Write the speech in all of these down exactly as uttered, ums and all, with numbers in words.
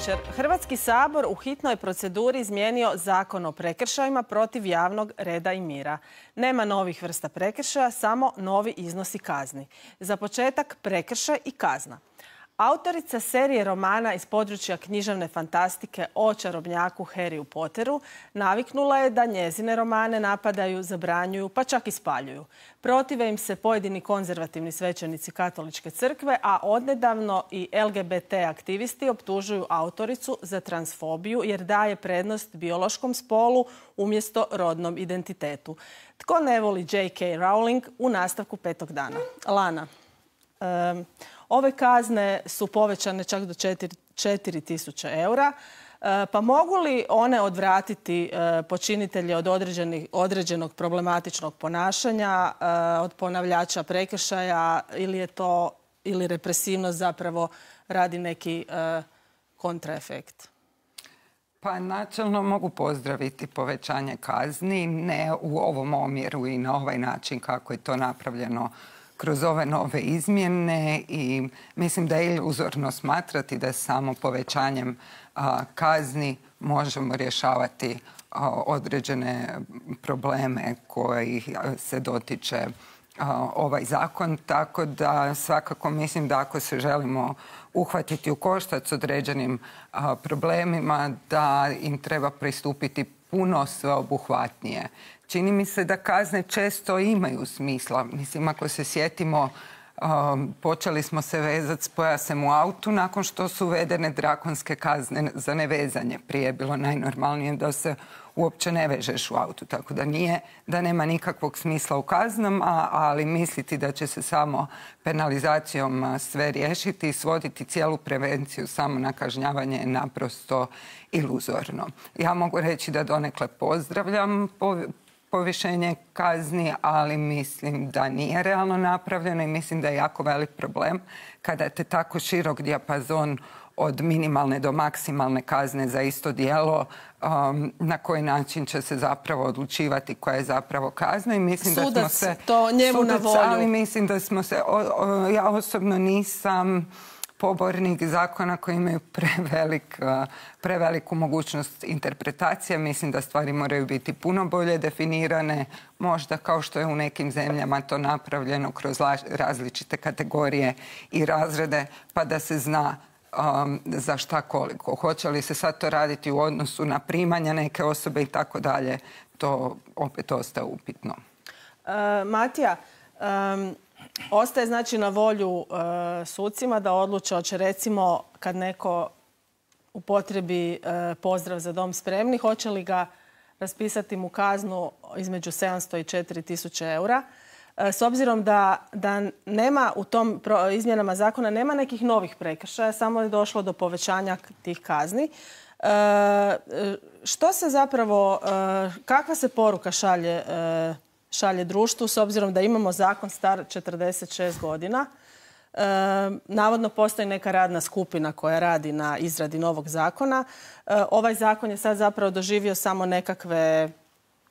večer. Hrvatski sabor u hitnoj proceduri izmijenio Zakon o prekršajima protiv javnog reda i mira. Nema novih vrsta prekršaja, samo novi iznosi kazni. Za početak prekršaj i kazna. Autorica serije romana iz područja književne fantastike o čarobnjaku Harryu Potteru naviknula je da njezine romane napadaju, zabranjuju, pa čak i spaljuju. Protive im se pojedini konzervativni svećenici katoličke crkve, a odnedavno i L G B T aktivisti optužuju autoricu za transfobiju jer daje prednost biološkom spolu umjesto rodnom identitetu. Tko ne voli J K Rowling u nastavku petog dana? Lana. Um, Ove kazne su povećane čak do četiri tisuće eura. Pa mogu li one odvratiti počinitelje od određenog problematičnog ponašanja, od ponavljača prekršaja ili je to ili represivnost zapravo radi neki kontraefekt? Pa načelno mogu pozdraviti povećanje kazni, ne u ovom omjeru i na ovaj način kako je to napravljeno kroz ove nove izmjene i mislim da je iluzorno smatrati da samo povećanjem a, kazni možemo rješavati a, određene probleme koji se dotiče a, ovaj zakon. Tako da svakako mislim da ako se želimo uhvatiti u koštac s određenim a, problemima, da im treba pristupiti puno sveobuhvatnije. Čini mi se da kazne često imaju smisla. Mislim, ako se sjetimo, um, počeli smo se vezati s pojasem u autu nakon što su uvedene drakonske kazne za nevezanje. Prije je bilo najnormalnije da se uopće ne vežeš u autu. Tako da nije, da nema nikakvog smisla u kaznama, ali misliti da će se samo penalizacijom sve riješiti i svoditi cijelu prevenciju samo na kažnjavanje je naprosto iluzorno. Ja mogu reći da donekle pozdravljam povišenje kazni, ali mislim da nije realno napravljeno i mislim da je jako velik problem kada te tako širok dijapazon od minimalne do maksimalne kazne za isto djelo, um, na koji način će se zapravo odlučivati koja je zapravo kazna. I mislim sudac, da smo se, to njemu sudac, na volju. Ali mislim da smo se, o, o, ja osobno nisam pobornik zakona koji imaju prevelik, preveliku mogućnost interpretacije. Mislim da stvari moraju biti puno bolje definirane, možda kao što je u nekim zemljama to napravljeno kroz različite kategorije i razrede, pa da se zna um, za šta koliko. Hoće li se sad to raditi u odnosu na primanja neke osobe i tako dalje, to opet ostaje upitno. Uh, Matija, um... ostaje znači na volju e, sucima da odluče hoće recimo kad neko upotrebi e, pozdrav za dom spremni, hoće li ga raspisati mu kaznu između sedamsto i četiri tisuće eura. E, s obzirom da, da nema u tom pro, izmjenama zakona nema nekih novih prekršaja, samo je došlo do povećanja tih kazni. E, što se zapravo, e, kakva se poruka šalje e, šalje društvu, s obzirom da imamo zakon star četrdeset šest godina. E, navodno postoji neka radna skupina koja radi na izradi novog zakona. E, ovaj zakon je sad zapravo doživio samo nekakve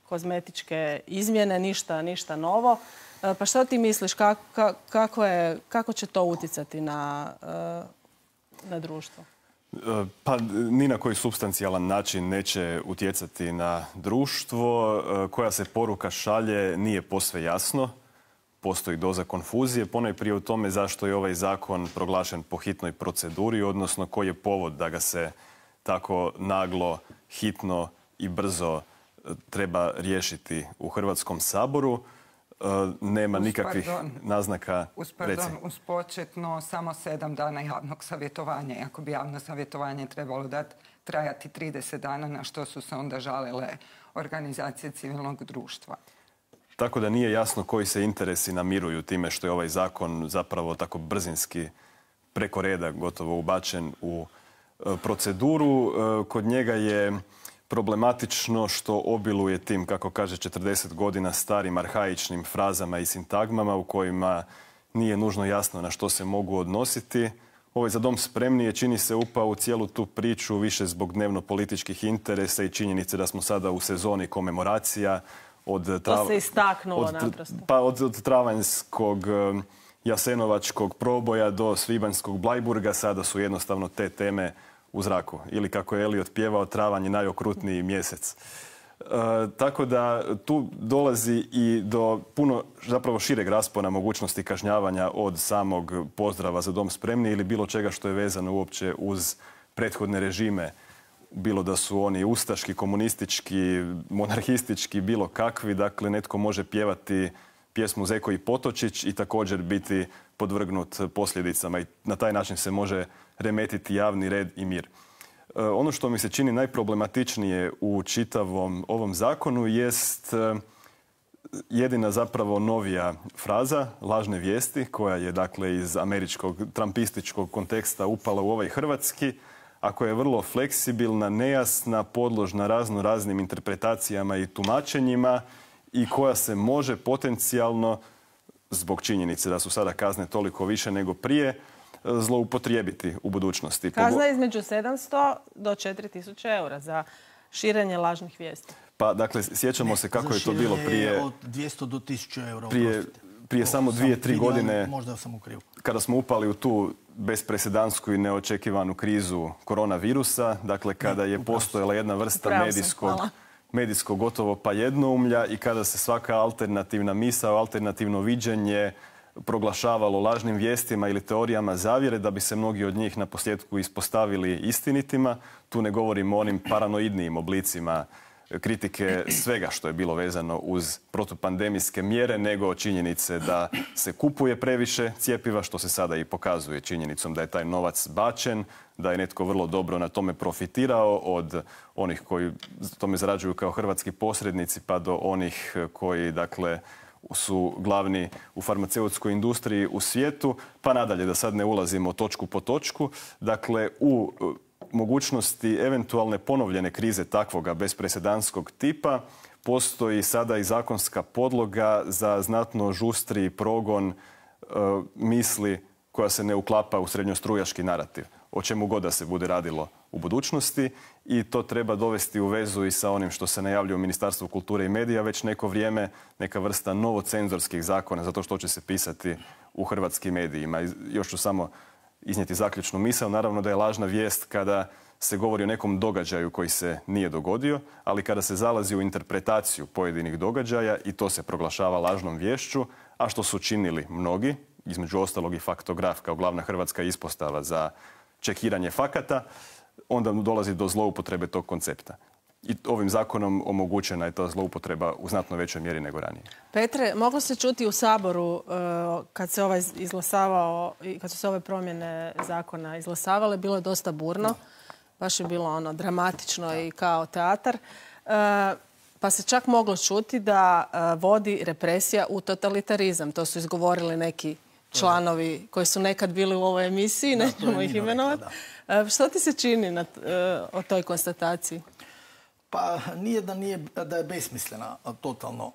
kozmetičke izmjene, ništa, ništa novo. E, pa što ti misliš, kako, kako, je, kako će to utjecati na, na društvo? Pa ni na koji supstancijalan način neće utjecati na društvo. Koja se poruka šalje nije posve jasno. Postoji doza konfuzije. Ponajprije u tome zašto je ovaj zakon proglašen po hitnoj proceduri, odnosno koji je povod da ga se tako naglo, hitno i brzo treba riješiti u Hrvatskom saboru. Nema uz, nikakvih pardon, naznaka. Uz, pardon, uz početno samo sedam dana javnog savjetovanja. Ako bi javno savjetovanje trebalo dati trajati trideset dana, na što su se onda žalile organizacije civilnog društva. Tako da nije jasno koji se interesi namiruju time što je ovaj zakon zapravo tako brzinski preko reda gotovo ubačen u proceduru. Kod njega je problematično što obiluje tim, kako kaže, četrdeset godina starim arhaičnim frazama i sintagmama u kojima nije nužno jasno na što se mogu odnositi. Ovaj za dom spremni je, čini se, upao u cijelu tu priču više zbog dnevno-političkih interesa i činjenice da smo sada u sezoni komemoracija. Od to se istaknulo od, naprosto. Pa od, od travanjskog jasenovačkog proboja do svibanjskog Blajburga sada su jednostavno te teme u zraku. Ili kako je Eliot pjevao, travanj je najokrutniji mjesec. E, tako da tu dolazi i do puno zapravo šireg raspona mogućnosti kažnjavanja od samog pozdrava za dom spremni ili bilo čega što je vezano uopće uz prethodne režime, bilo da su oni ustaški, komunistički, monarhistički, bilo kakvi. Dakle, netko može pjevati pjesmu Zeko i Potočić i također biti podvrgnut posljedicama i na taj način se može remetiti javni red i mir. E, ono što mi se čini najproblematičnije u čitavom ovom zakonu jest e, jedina zapravo novija fraza, lažne vijesti, koja je dakle iz američkog trampističkog konteksta upala u ovaj hrvatski, a koja je vrlo fleksibilna, nejasna, podložna razno raznim interpretacijama i tumačenjima i koja se može potencijalno, zbog činjenice da su sada kazne toliko više nego prije, zloupotrijebiti u budućnosti. Kazna je između sedamsto do četiri tisuće eura za širenje lažnih vijesti. Pa, dakle, sjećamo se kako je to bilo prije... Od dvjesto do tisuću eura. Prije, prije samo dvije, tri godine, možda sam u krivu, kada smo upali u tu bezpresedansku i neočekivanu krizu koronavirusa, dakle, kada je postojala jedna vrsta medijskog... medijsko gotovo pa jednoumlja i kada se svaka alternativna misao, alternativno viđenje proglašavalo lažnim vijestima ili teorijama zavjere da bi se mnogi od njih na posljedku ispostavili istinitima. Tu ne govorimo o onim paranoidnijim oblicima kritike svega što je bilo vezano uz protupandemijske mjere, nego činjenice da se kupuje previše cjepiva, što se sada i pokazuje činjenicom da je taj novac bačen, da je netko vrlo dobro na tome profitirao, od onih koji tome zarađuju kao hrvatski posrednici pa do onih koji, dakle, su glavni u farmaceutskoj industriji u svijetu, pa nadalje da sad ne ulazimo točku po točku. Dakle, u mogućnosti eventualne ponovljene krize takvoga bezpresedanskog tipa postoji sada i zakonska podloga za znatno žustriji progon e, misli koja se ne uklapa u srednjostrujaški narativ, o čemu god da se bude radilo u budućnosti, i to treba dovesti u vezu i sa onim što se najavljuje u Ministarstvu kulture i medija već neko vrijeme, neka vrsta novocenzorskih zakona, zato što će se pisati u hrvatskim medijima. I još ću samo iznijeti zaključnu misao. Naravno da je lažna vijest kada se govori o nekom događaju koji se nije dogodio, ali kada se zalazi u interpretaciju pojedinih događaja i to se proglašava lažnom viješću, a što su činili mnogi, između ostalog i Faktograf kao glavna hrvatska ispostava za čekiranje fakata, onda dolazi do zloupotrebe tog koncepta. I ovim zakonom omogućena je ta zloupotreba u znatno većoj mjeri nego ranije. Petre, moglo se čuti u Saboru kad se ovaj izglasavao i kad su se ove promjene zakona izglasavale, bilo je dosta burno. Baš je bilo ono dramatično i kao teatar. Pa se čak moglo čuti da vodi represija u totalitarizam. To su izgovorili neki članovi koji su nekad bili u ovoj emisiji, nećemo ih imenovati. Što ti se čini na, o toj konstataciji? Pa nije da, nije da je besmislena totalno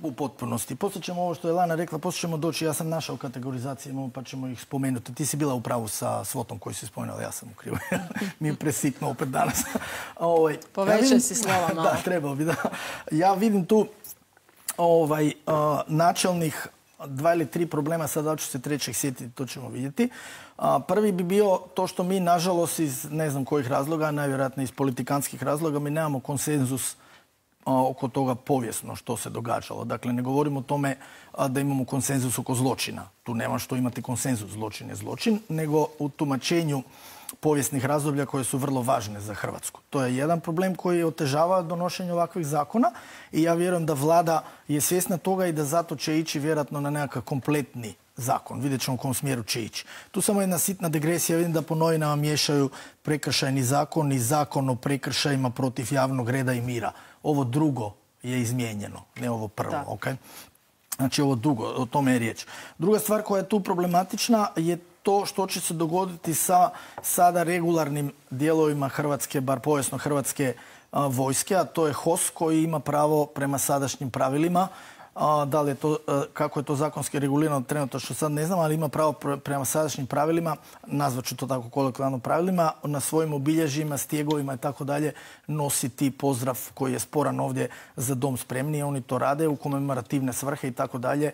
u potpunosti. Poslije ćemo ovo što je Lana rekla, poslije ćemo doći, ja sam našao kategorizacije, pa ćemo ih spomenuti. Ti si bila u pravu sa svotom koji si spomenula, ja sam u krivu. Mi je presitno opet danas. Ovaj, Povećaj ja vidim, si slova malo. Da, trebao bi da. Ja vidim tu ovaj, uh, načelnih dva ili tri problema, sada ću se trećeg sjetiti, to ćemo vidjeti. A, prvi bi bio to što mi, nažalost, iz ne znam kojih razloga, najvjerojatnije iz politikanskih razloga, mi nemamo konsenzus a, oko toga povijesno što se događalo. Dakle, ne govorimo o tome a, da imamo konsenzus oko zločina. Tu nema što imati konsenzus, zločin je zločin, nego u tumačenju povijesnih razdoblja koje su vrlo važne za Hrvatsku. To je jedan problem koji otežava donošenje ovakvih zakona i ja vjerujem da vlada je svjesna toga i da zato će ići vjerojatno na nekakav kompletni zakon. Vidjet ćemo u kom smjeru će ići. Tu samo jedna sitna degresija. Vidim da po novinama miješaju prekršajni zakon i zakon o prekršajima protiv javnog reda i mira. Ovo drugo je izmijenjeno, ne ovo prvo. Okay? Znači ovo drugo, o tome je riječ. Druga stvar koja je tu problematična je to što će se dogoditi sa sada regularnim dijelovima Hrvatske, bar povijesno Hrvatske a, vojske, a to je H O S koji ima pravo prema sadašnjim pravilima Da li je to, kako je to zakonski regulirano trenutno što sad ne znam, ali ima pravo prema sadašnjim pravilima, nazvat ću to tako kolokvijalno pravilima, na svojim obilježjima, stjegovima i tako dalje nositi pozdrav koji je sporan ovdje za dom spremni. Oni to rade u komemorativne svrhe i tako dalje.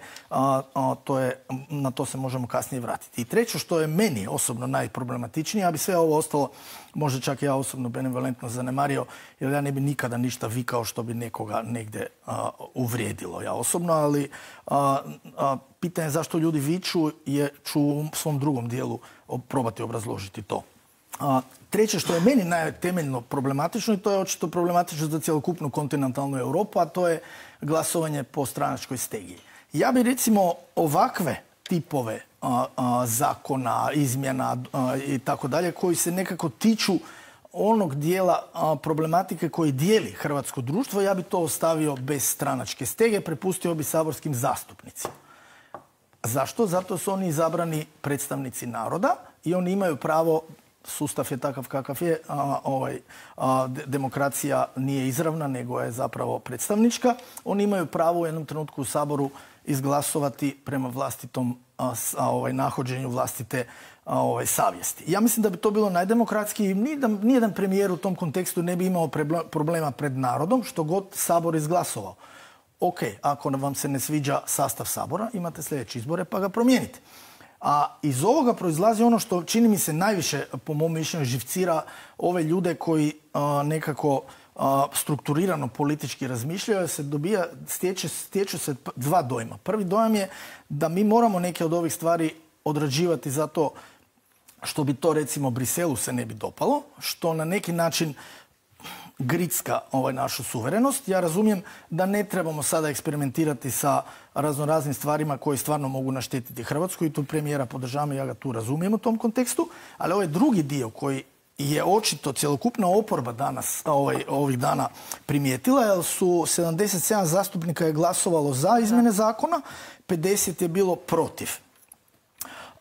Na to se možemo kasnije vratiti. I treće što je meni osobno najproblematičnije, ja bi sve ovo ostalo možda čak ja osobno benevolentno zanemario, jer ja ne bi nikada ništa vikao što bi nekoga negdje a, uvrijedilo. Ja osobno, ali a, a, pitanje zašto ljudi viču je ću u svom drugom dijelu probati obrazložiti to. A, treće što je meni najtemeljno problematično, i to je očito problematično za cjelokupnu kontinentalnu Europu, a to je glasovanje po stranačkoj stegi. Ja bi recimo ovakve tipove a, a, zakona, izmjena a, i tako dalje, koji se nekako tiču onog dijela a, problematike koji dijeli hrvatsko društvo, ja bi to ostavio bez stranačke stege, prepustio bi saborskim zastupnicima. Zašto? Zato su oni izabrani predstavnici naroda i oni imaju pravo, sustav je takav kakav je, a, ovaj, a, demokracija nije izravna, nego je zapravo predstavnička. Oni imaju pravo u jednom trenutku u Saboru izglasovati prema vlastitom a, a, ovaj, nahođenju vlastite a, ovaj, savjesti. Ja mislim da bi to bilo najdemokratski. Nijedan, nijedan premijer u tom kontekstu ne bi imao problema pred narodom, što god Sabor izglasovao. Ok, ako vam se ne sviđa sastav Sabora, imate sljedeće izbore pa ga promijenite. A iz ovoga proizlazi ono što čini mi se najviše, po mom mišljenju, živcira ove ljude koji a, nekako a, strukturirano politički razmišljaju, se dobija, stječe, stječu se dva dojma. Prvi dojam je da mi moramo neke od ovih stvari odrađivati zato što bi to recimo Briselu se ne bi dopalo, što na neki način gricka ovaj, našu suverenost. Ja razumijem da ne trebamo sada eksperimentirati sa raznoraznim stvarima koji stvarno mogu naštetiti Hrvatsku i tu premijera podržavam i ja ga tu razumijem u tom kontekstu, ali ovaj drugi dio koji je očito cjelokupna oporba danas, ovaj, ovih dana primijetila, jer su sedamdeset sedam zastupnika je glasovalo za izmjene zakona, pedeset je bilo protiv.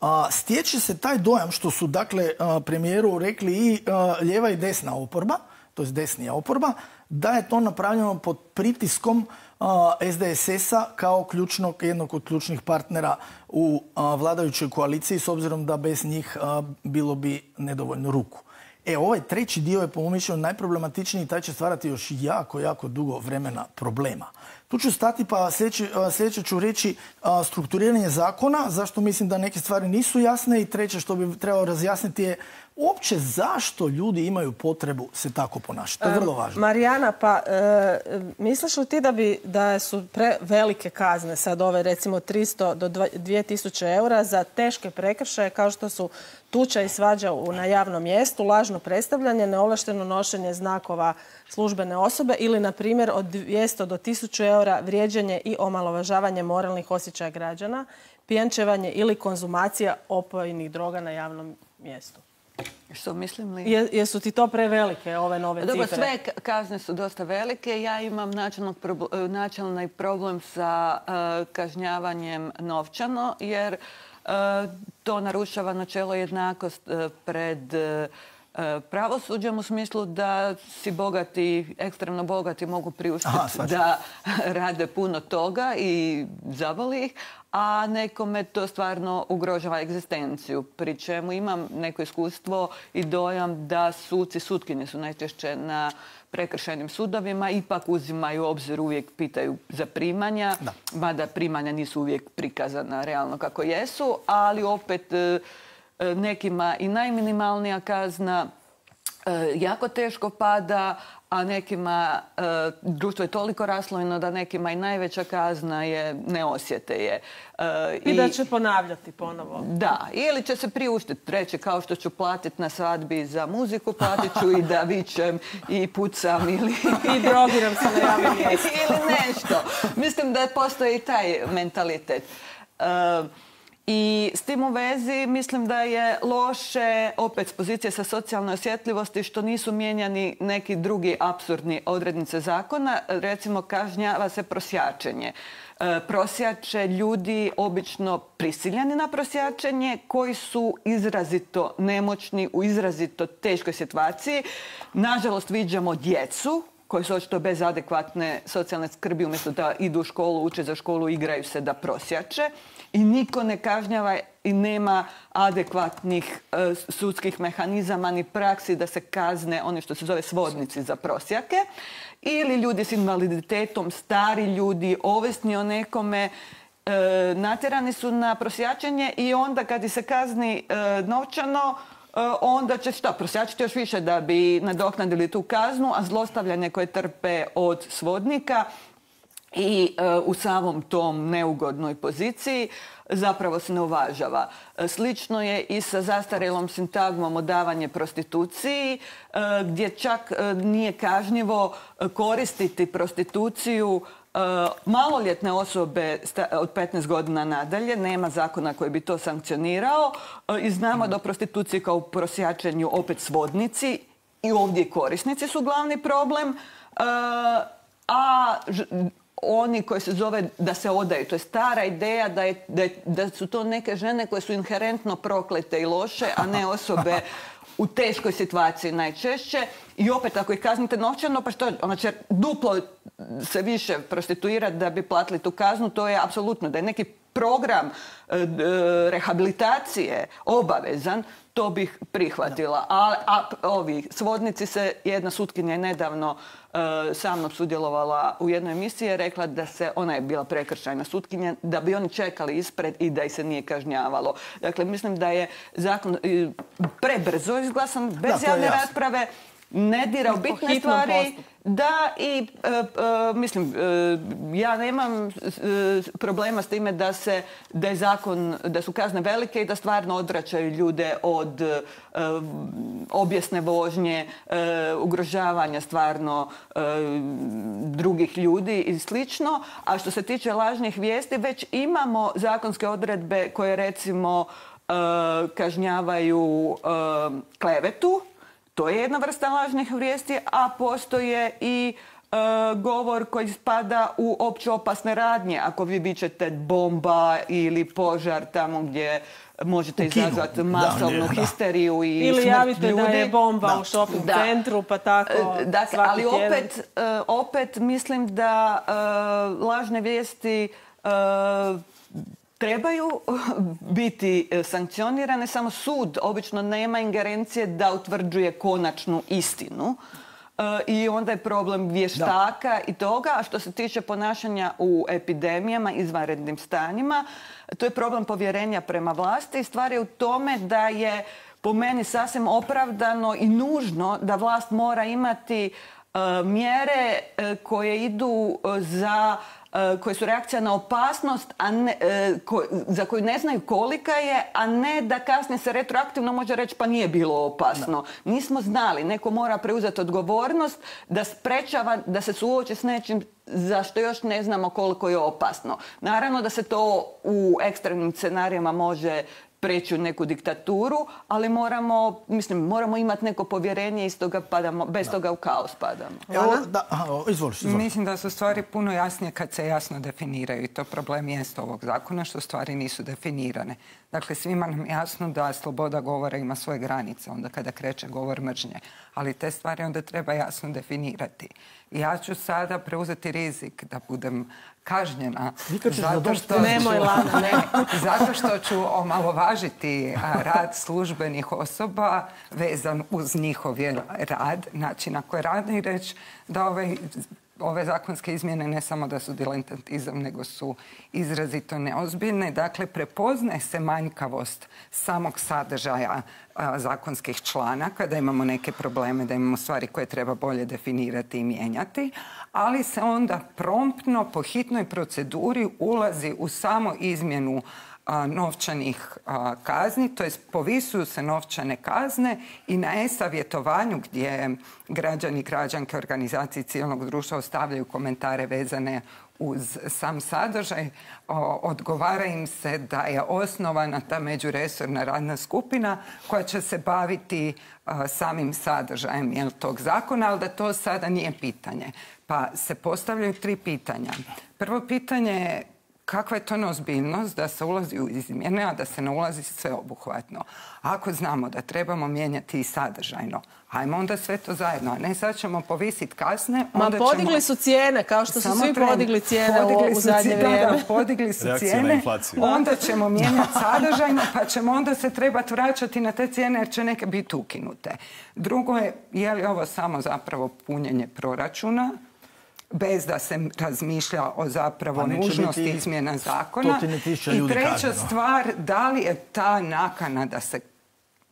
A, stječe se taj dojam što su dakle a, premijeru rekli i a, lijeva i desna oporba, to je desnija oporba, da je to napravljeno pod pritiskom a, S D S S-a kao ključnog, jednog od ključnih partnera u a, vladajućoj koaliciji, s obzirom da bez njih a, bilo bi nedovoljno ruku. E, ovaj treći dio je po mom mišljenju najproblematičniji i taj će stvarati još jako, jako dugo vremena problema. Tu ću stati pa sljedeće, sljedeće ću reći a, strukturiranje zakona, zašto mislim da neke stvari nisu jasne, i treće što bi trebalo razjasniti je uopće zašto ljudi imaju potrebu se tako ponašati. To je vrlo važno. Marijana, pa e, misliš li ti da, bi, da su prevelike kazne sad ove recimo tristo do dvije tisuće eura za teške prekršaje kao što su tuča i svađa na javnom mjestu, lažno predstavljanje, neovlašteno nošenje znakova službene osobe ili, na primjer, od dvjesto do tisuću eura vrijeđanje i omalovažavanje moralnih osjećaja građana, pijančevanje ili konzumacija opojnih droga na javnom mjestu? Što mislim li? Je, jesu ti to prevelike ove nove cifre? Dobro, sve kazne su dosta velike. Ja imam načelni problem sa uh, kažnjavanjem novčano, jer uh, to narušava načelo jednakost uh, pred uh, pravosuđem, u smislu da si bogati, ekstremno bogati mogu priuštiti da rade puno toga i zavoli ih, a nekome to stvarno ugrožava egzistenciju. Pri čemu imam neko iskustvo i dojam da suci, sutkinje su najčešće na prekršajnim sudovima, ipak uzimaju u obzir, uvijek pitaju za primanja, da. Mada primanja nisu uvijek prikazana realno kako jesu, ali opet nekima i najminimalnija kazna jako teško pada, a nekima društvo je toliko raslojeno da nekima i najveća kazna je ne osjete je. I, I da će ponavljati ponovo. Da, ili će se priuštiti, reći kao što ću platiti na svadbi za muziku, platit ću i da vičem i pucam ili... I drogiram se na javnom mjestu. Ili nešto. Mislim da postoji i taj mentalitet. I s tim u vezi mislim da je loše, opet s pozicije sa socijalne osjetljivosti, što nisu mijenjani neki drugi apsurdni odrednice zakona. Recimo, kažnjava se prosjačenje. E, prosjače ljudi obično prisiljeni na prosjačenje, koji su izrazito nemoćni, u izrazito teškoj situaciji. Nažalost, viđamo djecu koji su očito bez adekvatne socijalne skrbi, umjesto da idu u školu, uče za školu, igraju se da prosjače. I niko ne kažnjava i nema adekvatnih e, sudskih mehanizama ni praksi da se kazne oni što se zove svodnici za prosjake. Ili ljudi s invaliditetom, stari ljudi, ovisni o nekome, e, natjerani su na prosjačenje i onda kad ih se kazni e, novčano, onda će šta, prosjačiti još više da bi nadoknadili tu kaznu, a zlostavljanje koje trpe od svodnika i e, u samom tom neugodnoj poziciji zapravo se ne uvažava. Slično je i sa zastarjelom sintagmom odavanje prostituciji, e, gdje čak e, nije kažnjivo koristiti prostituciju maloljetne osobe od petnaest godina nadalje, nema zakona koji bi to sankcionirao i znamo da u prostituciji kao u prosjačenju opet svodnici i ovdje korisnici su glavni problem, a oni koji se zove da se odaju. To je stara ideja da, je, da, je, da su to neke žene koje su inherentno proklete i loše, a ne osobe u teškoj situaciji najčešće. I opet, ako ih kaznite novčano, pa što, ona će duplo se više prostituirati da bi platili tu kaznu, to je apsolutno. Da je neki program e, e, rehabilitacije obavezan, to bih prihvatila. A, a ovi svodnici se, jedna sutkinja je nedavno e, sa mnom sudjelovala u jednoj emisiji, je rekla da se, ona je bila prekršajna sutkinja, da bi oni čekali ispred i da ih se nije kažnjavalo. Dakle, mislim da je zakon e, prebrzo izglasan, bez da, javne rasprave, ne dira u bitne stvari. Postupku. Da, i e, e, mislim, e, ja nemam e, problema s time da se, da je zakon, da su kazne velike i da stvarno odvraćaju ljude od e, objesne vožnje, e, ugrožavanja stvarno e, drugih ljudi i slično. A što se tiče lažnih vijesti, već imamo zakonske odredbe koje recimo e, kažnjavaju e, klevetu. To je jedna vrsta lažnih vijesti, a postoje i e, govor koji spada u opće opasne radnje. Ako vi vičete bomba ili požar tamo gdje možete izazvati masovnu da, histeriju i ili smrt javite ljudi. Da je bomba da. u shopping da. centru, pa tako dakle, svaki ali tjedan. opet, e, opet mislim da e, lažne vijesti e, trebaju biti sankcionirane, samo sud obično nema ingerencije da utvrđuje konačnu istinu. E, I onda je problem vještaka da. I toga. A što se tiče ponašanja u epidemijama, izvanrednim stanjima, to je problem povjerenja prema vlasti. Stvar je u tome da je po meni sasvim opravdano i nužno da vlast mora imati e, mjere e, koje idu za koje su reakcija na opasnost, a ne, ko, za koju ne znaju kolika je, a ne da kasnije se retroaktivno može reći pa nije bilo opasno. Da. Nismo znali. Neko mora preuzeti odgovornost da sprečava, da se suoči s nečim za što još ne znamo koliko je opasno. Naravno da se to u ekstremnim scenarijima može preći u neku diktaturu, ali moramo, mislim, moramo imati neko povjerenje i stoga padamo, bez da. Toga u kaos padamo. Evo, da, aha, izvoli, izvoli. Mislim da su stvari puno jasnije kad se jasno definiraju i to problem jest ovog zakona što stvari nisu definirane. Dakle, svima nam jasno da sloboda govora ima svoje granice onda kada kreće govor mržnje, ali te stvari onda treba jasno definirati. I ja ću sada preuzeti rizik da budem kažnjena zato što, Nemoj, Lana, ne. zato što ću omalovažiti rad službenih osoba vezan uz njihov rad, način na koji rade i reći da ovaj ove zakonske izmjene ne samo da su diletantizam, nego su izrazito neozbiljne. Dakle, prepoznaje se manjkavost samog sadržaja a, zakonskih članaka, da imamo neke probleme, da imamo stvari koje treba bolje definirati i mijenjati, ali se onda promptno po hitnoj proceduri ulazi u samo izmjenu a, novčanih a, kazni, to jest povisuju se novčane kazne i na e-savjetovanju gdje građani, građanke, organizacije civilnog društva ostavljaju komentare vezane uz sam sadržaj, o, odgovara im se da je osnovana ta međuresorna radna skupina koja će se baviti a, samim sadržajem jel, tog zakona, ali da to sada nije pitanje. Pa se postavljaju tri pitanja. Prvo pitanje je kakva je to neozbiljnost da se ulazi u izmjene, a da se ne ulazi sveobuhvatno. Ako znamo da trebamo mijenjati i sadržajno, ajmo onda sve to zajedno, a ne sad ćemo povisiti kazne. Ma podigli su cijene, kao što su svi podigli cijene u zadnje vrijeme. Podigli su cijene, onda ćemo mijenjati sadržajno, pa ćemo onda se trebati vraćati na te cijene jer će neke biti ukinute. Drugo je, je li ovo samo zapravo punjenje proračuna, bez da se razmišlja o zapravo nužnosti izmjena zakona. I treća stvar, da li je ta nakana da se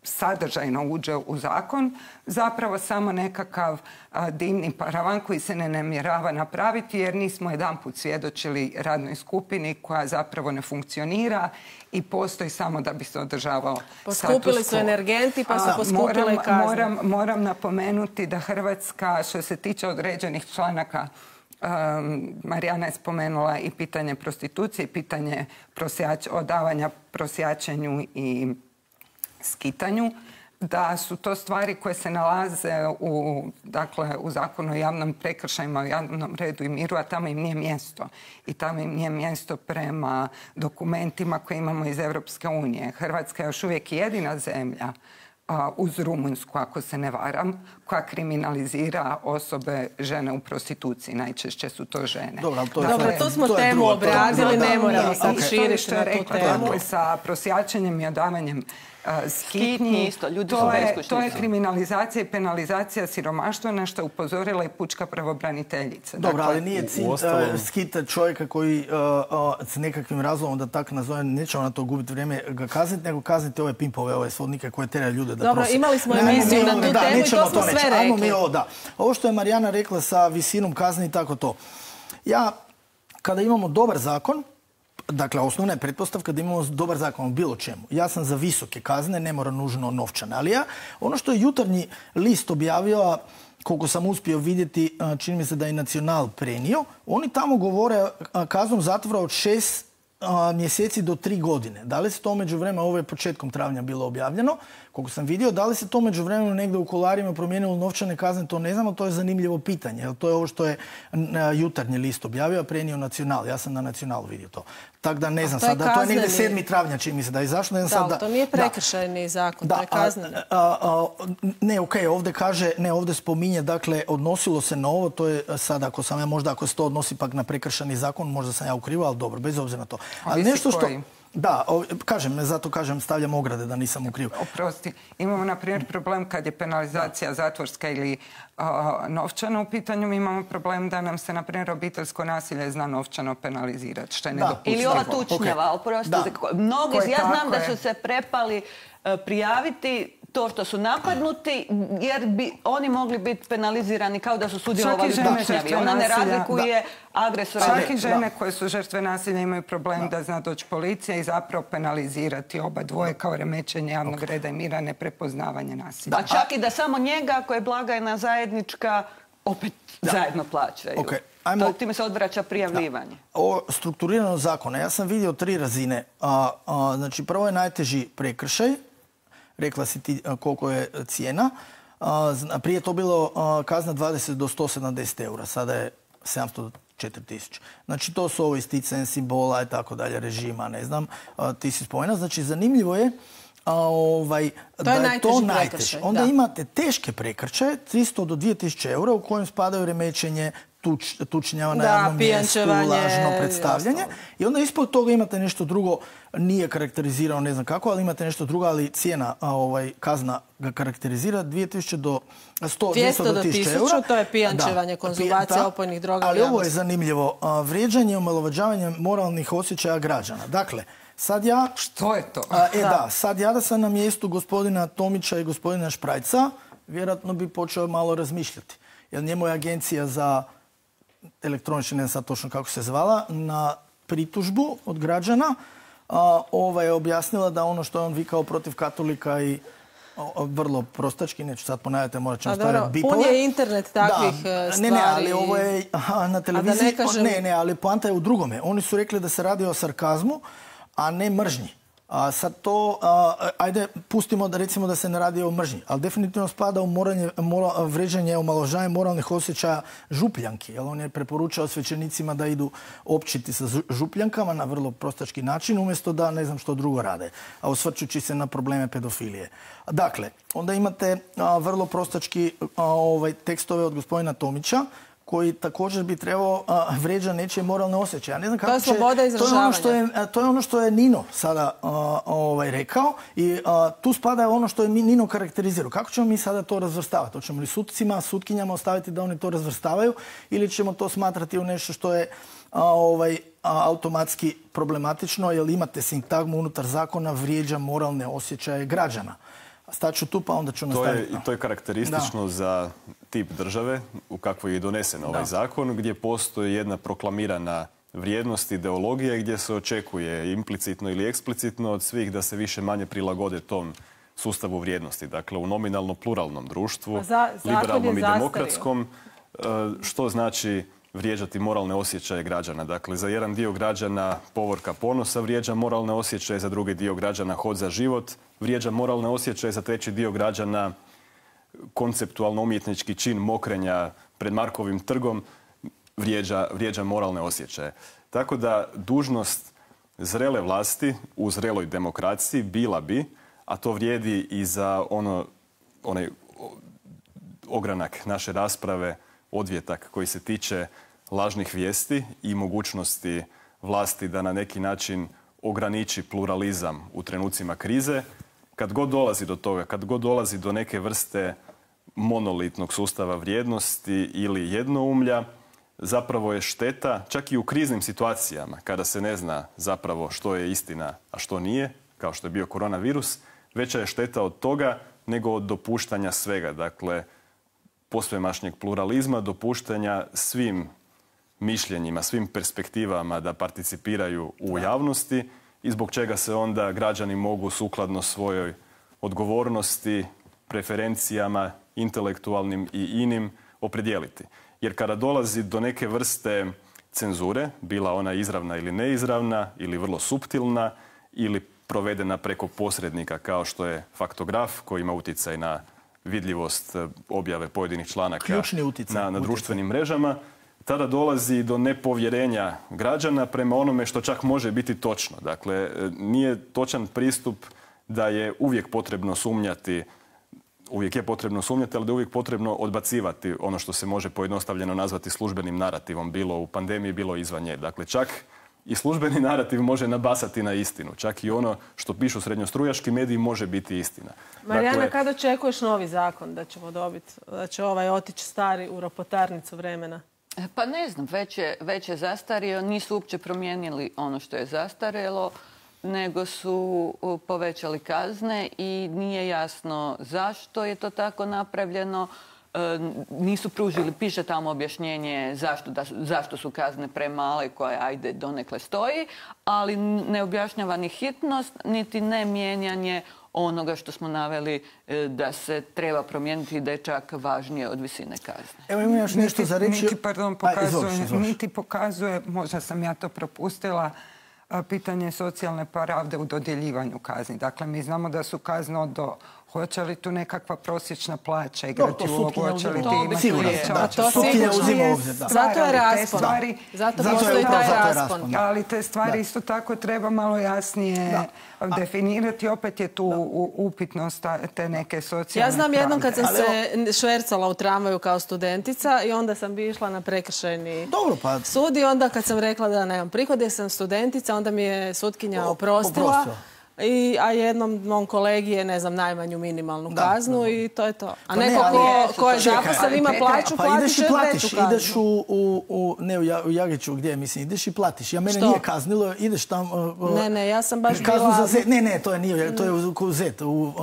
sadržajno uđe u zakon zapravo samo nekakav a, dimni paravan koji se ne namjerava napraviti jer nismo jedanput svjedočili radnoj skupini koja zapravo ne funkcionira i postoji samo da bi se održavao status quo. Poskupili su energenti pa su poskupile i kazne. Moram, moram napomenuti da Hrvatska što se tiče određenih članaka, Um, Marijana je spomenula i pitanje prostitucije, i pitanje prosjač, odavanja prosjačenju i skitanju, da su to stvari koje se nalaze u, dakle, u zakonu o javnom prekršajima, o javnom redu i miru, a tamo im nije mjesto. I tamo im nije mjesto prema dokumentima koje imamo iz Europske unije. Hrvatska je još uvijek jedina zemlja uz Rumunjsku, ako se ne varam, koja kriminalizira osobe žene u prostituciji. Najčešće su to žene. Dobro, to, dakle, Dobro, tu smo to temu obradili, ne moramo sad širiti na tu temu. Sa prosjačenjem i odavanjem skitnji, to je, to je kriminalizacija i penalizacija siromaštva, na što je upozorila i pučka pravobraniteljica. Dobro, dakle, ali nije cilj uh, skita čovjeka koji uh, uh, s nekakvim razlogom, da tako nazovem, nećemo na to gubiti vrijeme ga kazniti, nego kazniti ove pimpove, ove svodnike koje teraju ljude da Dobro, prose. imali smo emisiju na tu da, temu i to smo to sve rekli. Mi ovo, da. Ovo što je Marijana rekla sa visinom kazni i tako to. Ja, kada imamo dobar zakon, dakle, osnovna je pretpostavka da imamo dobar zakon o bilo čemu. Ja sam za visoke kazne, ne mora nužno novčane. Ali ja, ono što je Jutarnji list objavio, koliko sam uspio vidjeti, čini mi se da je Nacional prenio, oni tamo govore kaznom zatvora od šest mjeseci do tri godine. Da li se to među vremenu, ovo je početkom travnja bilo objavljeno, koliko sam vidio, da li se to među vremenu negdje u kuloarima promijenilo novčane kazne, to ne znam, ali to je zanimljivo pitanje. Jer to je ovo što je Jutarnji list objavio, a prenio Nacional. Ja sam na Nacionalu vidio to. Tako da ne znam sad, da to je negdje sedmi travnja čini mi se da je izašlo. Da, sad, to nije prekršajni zakon, to je kazneni. Ne, okej, ovdje kaže, ne, ovdje spominje, dakle, odnosilo se na ovo, to je sad, ako sam ja možda, ako se to odnosi pak na prekršajni zakon, možda sam ja ukrivo, ali dobro, bez obzira na to. Ali nešto što... Da, kažem, zato kažem, stavljam ograde da nisam u krivu. Oprosti, imamo na primjer problem kad je penalizacija zatvorska ili novčana u pitanju, mi imamo problem da nam se, na primjer, obiteljsko nasilje zna novčano penalizirati, što je nedopustivo. Ili ova tučnjava, oprostite. Mnogi, ja znam da su se prepali prijaviti to što su napadnuti, jer bi oni mogli biti penalizirani kao da su sudjelovali u tučnjavi. Ona ne razlikuje agresora. Čak i žene koje su žrtve nasilja imaju problem da zna doći policija i zapravo penalizirati oba dvoje kao remećenje javnog reda i mira, neprepoznavanje nasilja. A čak i da samo njega, ako je blagajna zajednička, opet zajedno plaćaju. To time se odvraća prijavljivanje. O strukturirano zakona. Ja sam vidio tri razine. Znači, prvo je najteži prekršaj. Rekla si ti koliko je cijena. Prije je to bilo kazna dvadeset do sto sedamdeset eura. Sada je sedamsto do četiri tisuće. Znači, to su ovo isticanje simbola i tako dalje, režima, ne znam. Ti si spomenuo. Znači, zanimljivo je ovaj, to je da je to najteže. Onda da. Imate teške prekršaje, tristo do dvije tisuće eura, u kojem spadaju remećenje, tuč, tučnjava na javnom mjestu, lažno predstavljanje. I onda ispod toga imate nešto drugo, nije karakterizirano, ne znam kako, ali imate nešto drugo, ali cijena, ovaj, kazna ga karakterizira dvije tisuće do sto, dvjesto do tisuću eura. To je pijančevanje, konzumacija opojnih droga. Ali ovo je zanimljivo. Vrijeđanje i omalovažavanje moralnih osjećaja građana. Dakle, sad ja... Što je to? A, e da. da, sad ja da sam na mjestu gospodina Tomića i gospodina Šprajca, vjerojatno bi počeo malo razmišljati. Jer njemu je agencija za elektronički, ne znam sad točno kako se zvala, na pritužbu od građana a, ova je objasnila da ono što je on vikao protiv katolika i o, vrlo prostački, neću sad ponavljati, morat ćemo stavljati bipove. Pun je internet takvih da, stvari. Ne, ne, ali ovo je aha, na televiziji. Ne, kažem... ne, ne, ali poanta je u drugome. Oni su rekli da se radi o sarkazmu, a ne mržnji. A sad to, a, ajde, pustimo da recimo da se ne radi o mržnji, ali definitivno spada u moranje, mora, vređanje, omalovažavanje moralnih osjećaja župljanki. Jer on je preporučao svećenicima da idu općiti sa župljankama na vrlo prostački način, umjesto da ne znam što drugo rade, a osvrćući se na probleme pedofilije. Dakle, onda imate a, vrlo prostački a, ovaj, tekstove od gospodina Tomića, koji također bi trebao a, vređa nečije moralne osjećaje. Ja ne znam kako to je sloboda će, izražavanja. To je ono što je, to je, ono što je Nino sada a, ovaj, rekao i a, tu spada ono što je Nino karakterizirao. Kako ćemo mi sada to razvrstavati? Hoćemo li sudcima, sutkinjama ostaviti da oni to razvrstavaju ili ćemo to smatrati u nešto što je a, ovaj, a, automatski problematično, jer imate sintagmu unutar zakona vrijeđa moralne osjećaje građana. Staću tu pa onda ću nastaviti. To je, to je karakteristično da. za tip države u kakvoj je donesen ovaj da. zakon, gdje postoji jedna proklamirana vrijednost, ideologija gdje se očekuje implicitno ili eksplicitno od svih da se više manje prilagode tom sustavu vrijednosti. Dakle, u nominalno pluralnom društvu, za, liberalnom i demokratskom, što znači vrijeđati moralne osjećaje građana. Dakle, za jedan dio građana povorka ponosa vrijeđa moralne osjećaje, za drugi dio građana hod za život vrijeđa moralne osjećaje, za treći dio građana konceptualno umjetnički čin mokrenja pred Markovim trgom vrijeđa, vrijeđa moralne osjećaje. Tako da dužnost zrele vlasti u zreloj demokraciji bila bi, a to vrijedi i za ono, onaj ogranak naše rasprave, odvjetak koji se tiče lažnih vijesti i mogućnosti vlasti da na neki način ograniči pluralizam u trenucima krize. Kad god dolazi do toga, kad god dolazi do neke vrste monolitnog sustava vrijednosti ili jednoumlja, zapravo je šteta, čak i u kriznim situacijama, kada se ne zna zapravo što je istina, a što nije, kao što je bio koronavirus, veća je šteta od toga nego od dopuštanja svega. Dakle, posvemašnjeg pluralizma, dopuštanja svim mišljenjima, svim perspektivama da participiraju u javnosti i zbog čega se onda građani mogu sukladno svojoj odgovornosti, preferencijama, intelektualnim i inim opredijeliti. Jer kada dolazi do neke vrste cenzure, bila ona izravna ili neizravna, ili vrlo suptilna, ili provedena preko posrednika kao što je faktograf koji ima utjecaj na vidljivost objave pojedinih članaka na, na društvenim mrežama, tada dolazi do nepovjerenja građana prema onome što čak može biti točno. Dakle, nije točan pristup da je uvijek potrebno sumnjati, uvijek je potrebno sumnjati, ali da je uvijek potrebno odbacivati ono što se može pojednostavljeno nazvati službenim narativom, bilo u pandemiji, bilo izvan nje. Dakle, čak i službeni narativ može nabasati na istinu. Čak i ono što pišu srednjostrujaški mediji može biti istina. Marijana, dakle, kada očekuješ novi zakon da ćemo dobiti, da će ovaj otići stari u ropotarnicu vremena? Pa ne znam, već je, već je zastario, nisu uopće promijenili ono što je zastarjelo, nego su povećali kazne i nije jasno zašto je to tako napravljeno. E, nisu pružili, piše tamo objašnjenje zašto, da, zašto su kazne premale koje ajde donekle stoji, ali ne objašnjava ni hitnost, niti ne mijenjanje onoga što smo naveli da se treba promijeniti i da je čak važnije od visine kazne. Evo imam još nešto za reći. Niti, pardon, pokazuje, Aj, izvoš, niti pokazuje, možda sam ja to propustila, pitanje socijalne pravde u dodjeljivanju kazni. Dakle, mi znamo da su kazne od do... Hoće li tu nekakva prosječna plaća igrati ulogu? Hoće li ti imati plaća? Sutkinja uzima obzir. Zato je raspon. Zato postoji taj raspon. Ali te stvari isto tako treba malo jasnije definirati. Opet je tu upitnost te neke socijalne Ja znam jednom kad sam se švercala u tramvaju kao studentica i onda sam bi išla na prekršajni sud i onda kad sam rekla da nemam prihod jer sam studentica, onda mi je sutkinja oprostila. I, a jednom mom kolegi je, ne znam, najmanju minimalnu kaznu da, da, da. I to je to. A pa neko ne, ko, ko je zaposlen ima plaću, pa platiš i veću kaznu. Ideš u, u, u, ne u Jagiću, gdje mislim, ideš i platiš. Ja mene Što? nije kaznilo, ideš tam... Uh, ne, ne, ja sam baš kaznu bila... Za zet. Ne, ne, to je nije, to je u, u zet, u, uh,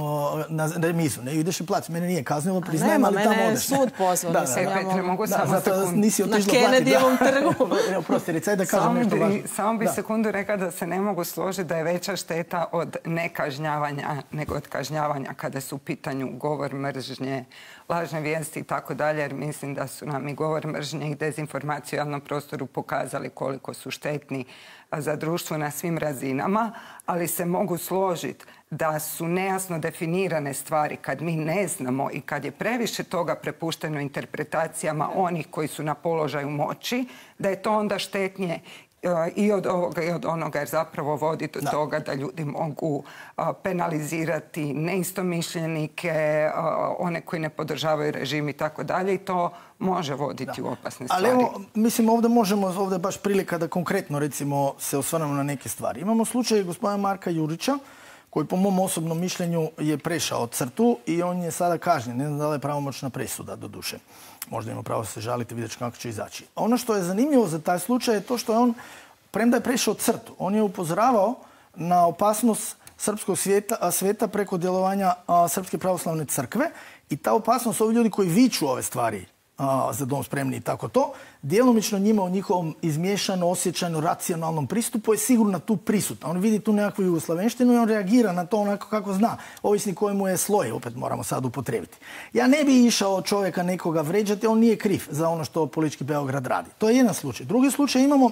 na remizu. Ne, ideš i platiš. Mene nije kaznilo, priznajem, ali tamo odeš. Nema, mene sud pozvao. Da, da, da, Petre, mogu samo sekundu. Nisi otišla platiti. Na Kennedyjevom trgu. Prosti, recaj da kažem nešto važno. Samo bi sekundu rekla da se ne mogu složiti da je veća šteta od od nekažnjavanja, nego od kažnjavanja kada su u pitanju govor mržnje, lažne vijesti i tako dalje, jer mislim da su nam i govor mržnje i dezinformacije u javnom prostoru pokazali koliko su štetni za društvo na svim razinama, ali se mogu složiti da su nejasno definirane stvari kad mi ne znamo i kad je previše toga prepušteno interpretacijama onih koji su na položaju moći, da je to onda štetnije i od ovoga i od onoga, jer zapravo vodi do da. toga da ljudi mogu penalizirati neistomišljenike, one koji ne podržavaju režim i tako dalje, i to može voditi da. u opasne stvari. Ali evo, mislim, ovdje možemo, ovdje baš prilika da konkretno, recimo, se osvrnemo na neke stvari. Imamo slučaj gospodina Marka Jurića, koji po mom osobnom mišljenju je prešao crtu i on je sada kažnjen. Ne znam da li je pravomoćna presuda, do duše. Možda ima pravo se žaliti, vidjeti kako će izaći. Ono što je zanimljivo za taj slučaj je to što je on, premda je prešao crtu, on je upozoravao na opasnost srpskog svijeta, svijeta preko djelovanja a, Srpske pravoslavne crkve, i ta opasnost, ovi ljudi koji viču ove stvari a, za dom spremni i tako to, djelomično njima u njihovom izmiješano, osjećajno, racionalnom pristupu je sigurno tu prisutna. On vidi tu nekakvu jugoslavenštinu i on reagira na to onako kako zna, ovisni kojemu je sloj, opet moramo sad upotrijebiti. Ja ne bi išao čovjeka nekoga vređati, on nije kriv za ono što politički Beograd radi. To je jedan slučaj. Drugi slučaj imamo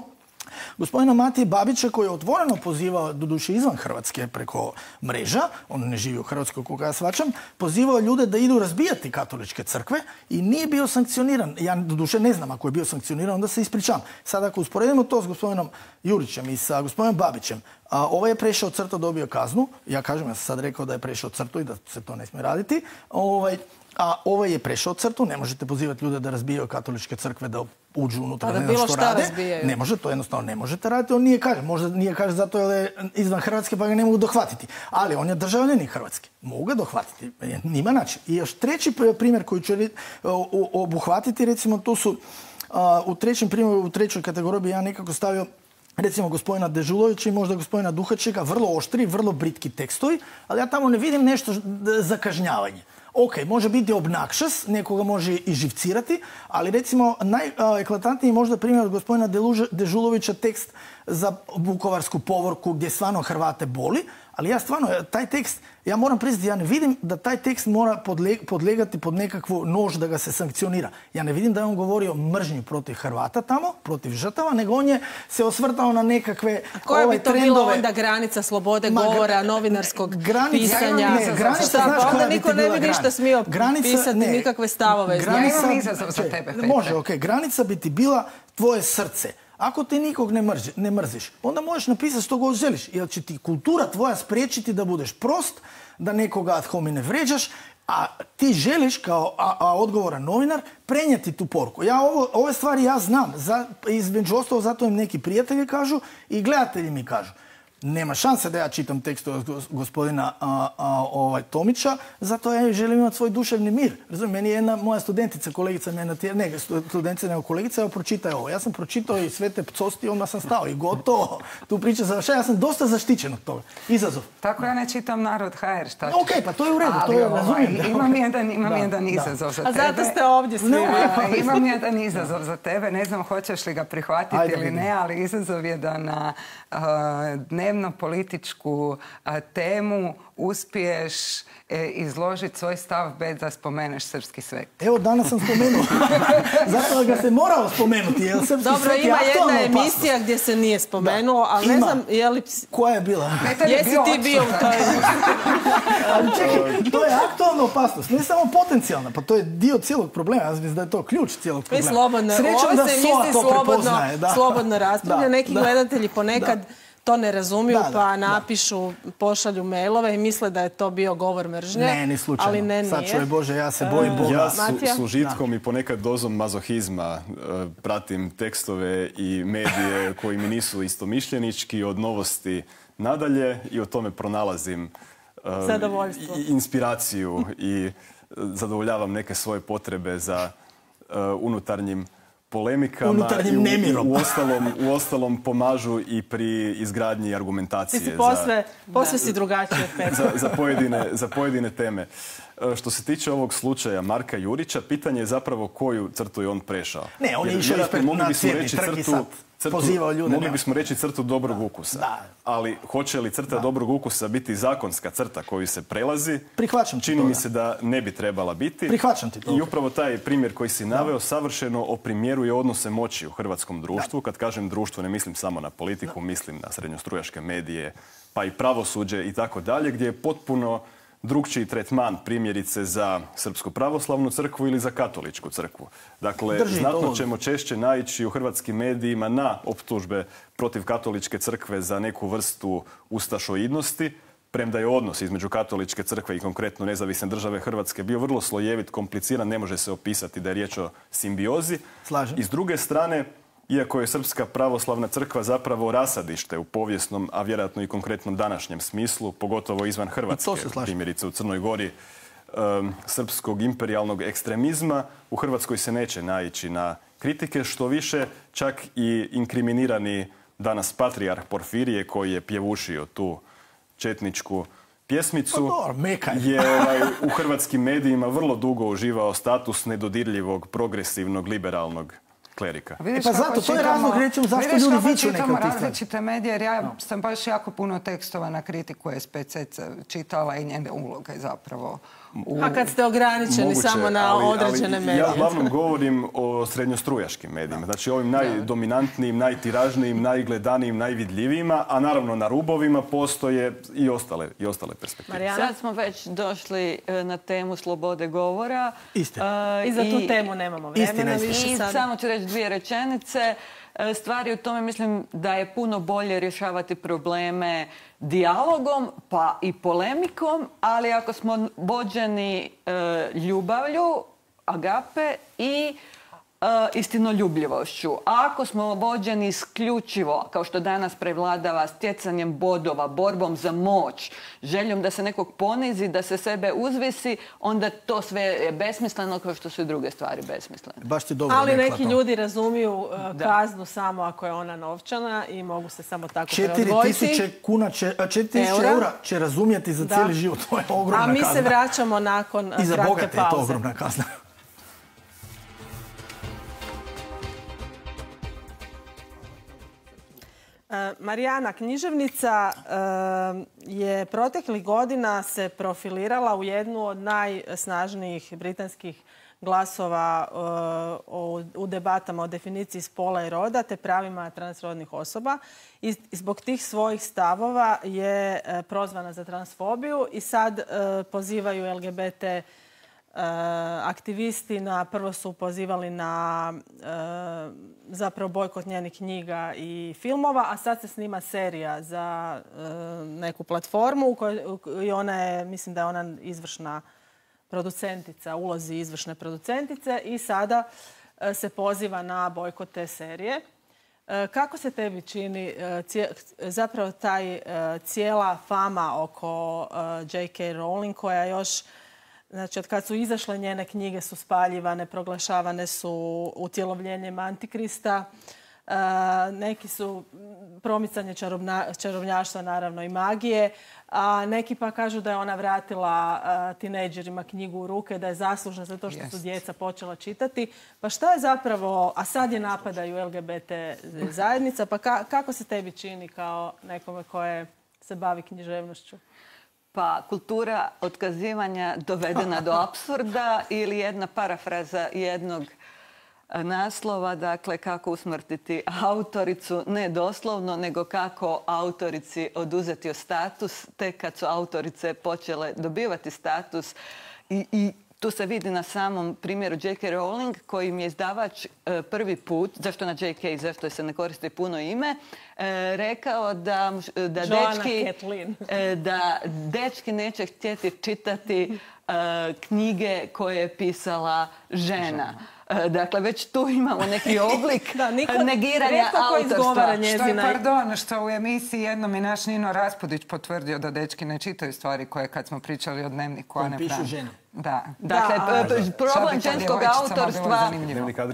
gospodina Matije Babića, koji je otvoreno pozivao, doduše izvan Hrvatske preko mreža, on ne živi u Hrvatskoj koga ja shvaćam, pozivao ljude da idu razbijati katoličke crkve i nije bio sankcioniran. Ja doduše ne znam, ako je bio sankcioniran, onda se ispričam. Sad ako usporedimo to s gospodinom Jurićem i sa gospodinom Babićem, a ovaj je prešao crtu, dobio kaznu. Ja kažem, ja sam sad rekao da je prešao crtu i da se to ne smije raditi. Ovaj, a ovaj je prešao crtu, ne možete pozivati ljude da razbijaju katoličke crkve, da uđu unutra, da ne znam što rade. Razbijaju. Ne može, to jednostavno ne možete raditi. On nije kaže, možda nije kaže zato jer je izvan Hrvatske pa ga ne mogu dohvatiti. Ali on je državljanin Hrvatske. Mogu ga dohvatiti. Nima način. I još treći primjer koji ću obuhvatiti, recimo tu su u trećem primjeru, u trećoj kategoriji bi ja nekako stavio recimo gospodina Dežulovića i možda gospodina Duhačeka, vrlo oštri, vrlo britki tekstovi, ali ja tamo ne vidim nešto za kažnjavanje. Ok, može biti obnakšas, nekoga može i živcirati, ali recimo najeklatantniji možda primjer od gospodina Dežulovića tekst za Vukovarsku povorku gdje stvarno Hrvate boli, ali ja stvarno, taj tekst, ja moram priznati, ja ne vidim da taj tekst mora podlegati pod nekakvu nož da ga se sankcionira. Ja ne vidim da je on govorio mržnju protiv Hrvata tamo, protiv žrtava, nego on je se osvrtao na nekakve trendove. Koja bi to bila onda granica slobode govora, novinarskog pisanja? Šta, onda niko ne bi ništa smio pisati, nikakve stavove. Ja imam izazov za tebe, Petre. Može, ok. Granica bi ti bila tvoje srce. Ako ti nikog ne, mrži, ne mrziš, onda možeš napisati što god želiš, jer će ti kultura tvoja spriječiti da budeš prost, da nekoga ad homine vređaš, a ti želiš kao a, a odgovoran novinar prenijeti tu poruku. Ja ovo, ove stvari ja znam, za, između ostalo zato im neki prijatelji kažu i gledatelji mi kažu. Nema šanse da ja čitam tekst od gospodina a, a, ovaj, Tomića, zato ja želim imati svoj duševni mir. Razumijem, meni je jedna moja studentica, kolegica, me ne studentica, nego kolegica, evo pročitaj ovo. Ja sam pročitao i sve te pcosti, onda sam stao i gotovo. Tu priča završava, ja sam dosta zaštićen od toga. Izazov. Tako ja ne čitam Narod ha er, šta ću? Ok, pa to je u redu, to je, ovaj, razumijem. Imam jedan, imam da, jedan izazov za a tebe. A zato ste ovdje svi. A, imam jedan izazov za tebe, ne znam hoćeš li ga prihvatiti Ajde, ili ne, ali izazov je da na uh, dnevno političku a, temu uspiješ e, izložiti svoj stav bez da spomeneš srpski svet. Evo, danas sam spomenuo. Zato ga se morao spomenuti. Jer srpski Dobro, svet ima je jedna emisija opasnost. Gdje se nije spomenuo, ali ne znam je li... Koja je bila? Petar Jesi bio ti bio u toj Ali čekaj, to je aktualna opasnost, ne samo potencijalna, pa to je dio cijelog problema. Ja mislim da je to ključ cijelog problema. Mi slobodno, Srećom da se misli slobodno, slobodno raspravlja. Neki da, gledatelji ponekad... Da. To ne razumiju, da, da, pa napišu, da. Pošalju mailove i misle da je to bio govor mržnje. Ne, ni slučajno. Ali ne, nije. Sad čuje Bože, ja se bojim Boga. Ja su, s užitkom da. I ponekad dozom mazohizma uh, pratim tekstove i medije koji mi nisu istomišljenički, od novosti nadalje, i o tome pronalazim uh, i, inspiraciju i zadovoljavam neke svoje potrebe za uh, unutarnjim polemikama unutarnjim nemirom. U, u, ostalom, u ostalom pomažu i pri izgradnji argumentacije. Ti si posve, za, posve si drugačije. za, za, pojedine, za pojedine teme. Što se tiče ovog slučaja Marka Jurića, pitanje je zapravo koju crtu je on prešao. Ne, on je išao ispred na Cvjetni trg i sad. pozivao ljude. Mogli na- bismo reći crtu dobrog ukusa. Da. Ali hoće li crta dobrog ukusa biti zakonska crta koju se prelazi? Prihvaćam ti Čini to, mi da. se da ne bi trebala biti. Prihvaćam ti to. I upravo taj primjer koji si naveo savršeno oprimjeruje odnose moći u hrvatskom društvu. Kad kažem društvo, ne mislim samo na politiku, mislim na srednjostrujaške medije, pa i pravosuđe i tako dalje, gdje je potpuno drukčiji tretman primjerice za Srpsku pravoslavnu crkvu ili za Katoličku crkvu. Dakle, Drži znatno to. ćemo češće naići u hrvatskim medijima na optužbe protiv Katoličke crkve za neku vrstu ustašoidnosti, premda je odnos između Katoličke crkve i konkretno Nezavisne države Hrvatske bio vrlo slojevit, kompliciran, ne može se opisati da je riječ o simbiozi. Slažem. I s druge strane, iako je Srpska pravoslavna crkva zapravo rasadište u povijesnom, a vjerojatno i konkretnom današnjem smislu, pogotovo izvan Hrvatske, to se slažem. primjerice u Crnoj Gori, um, srpskog imperijalnog ekstremizma, u Hrvatskoj se neće naići na kritike, što više čak i inkriminirani danas patrijarh Porfirije, koji je pjevušio tu četničku pjesmicu, Pa dobro, meka je. je ovaj, u hrvatskim medijima vrlo dugo uživao status nedodirljivog, progresivnog, liberalnog klerika. Vidiš E pa kako zato, to je čitamo- razlog, recimo, zašto vidiš ljudi kako viču neke čitamo od tih stvari. različite medije, jer ja sam baš jako puno tekstova na kritiku S P C čitala i njene uloge zapravo. U... A kad ste ograničeni Moguće, samo na ali- određene ali medije. Ja uglavnom govorim o srednjostrujaškim medijima. Znači ovim najdominantnijim, najtiražnijim, najgledanijim, najvidljivijima, a naravno na rubovima postoje i ostale, i ostale perspektive. Marijana? Sad smo već došli e, na temu slobode govora. Istina. E, I za tu temu nemamo vremena Istina, istina. više I sad. samo ću reći dvije rečenice. E, Stvari u tome mislim da je puno bolje rješavati probleme dijalogom pa i polemikom, ali ako smo vođeni e, ljubavlju, agape i e, istinoljubljivošću. Ako smo vođeni isključivo, kao što danas prevladava, stjecanjem bodova, borbom za moć, željom da se nekog ponizi, da se sebe uzvisi, onda to sve je besmisleno, kao što su i druge stvari besmislene. Baš ti dobro Ali rekla neki to. ljudi razumiju uh, kaznu samo ako je ona novčana i mogu se samo tako Četiri preodvojiti. tisuće kuna će, a četiri tisuće Eura. eura će razumjeti za Da. cijeli život. To je ogromna A mi kazna. se vraćamo nakon uh, I za kratke bogate je to pauze. ogromna kazna. E, Marijana, književnica e, je proteklih godina se profilirala u jednu od najsnažnijih britanskih glasova e, o- u debatama o definiciji spola i roda te pravima transrodnih osoba. I zbog tih svojih stavova je e, prozvana za transfobiju i sad e, pozivaju L G B T E, aktivisti na, prvo su pozivali na e, zapravo bojkot njenih knjiga i filmova, a sad se snima serija za e, neku platformu u kojoj, u- i ona je, mislim da je ona izvršna producentica, ulozi izvršne producentice i sada e, se poziva na bojkot te serije. E, Kako se tebi čini e, cije- zapravo taj e, cijela fama oko e, J K. Rowling koja još, znači od kad su izašle njene knjige su spaljivane, proglašavane su utjelovljenjem Antikrista. E, neki su m, promicanje čarobna- čarobnjaštva, naravno i magije, a neki pa kažu da je ona vratila e, tinejdžerima knjigu u ruke, da je zaslužna za to što su Jest. djeca počela čitati. Pa šta je zapravo, a sad je napadaju L G B T zajednica, pa ka- kako se tebi čini kao nekome koje se bavi književnošću? Pa kultura otkazivanja dovedena do apsurda ili jedna parafraza jednog e, naslova, dakle kako usmrtiti autoricu, ne doslovno, nego kako autorici oduzeti status, tek kad su autorice počele dobivati status i, i tu se vidi na samom primjeru J K. Rowling, kojim je izdavač e, prvi put, zašto na J K, zašto se ne koristi puno ime, e, rekao da, muš- da Joanna dečki, Kathleen. e, da dečki neće htjeti čitati e, knjige koje je pisala žena. E, dakle, već tu imamo neki oblik Da, niko- negiranja rijetko ko izgovara autorstva. nje- Što je, Njezina- pardon, što u emisiji jednom je naš Nino Raspudić potvrdio da dečki ne čitaju stvari koje kad smo pričali o dnevniku Kojem Ane pišu Frank. žene. Da. Dakle, problem ženskog autorstva...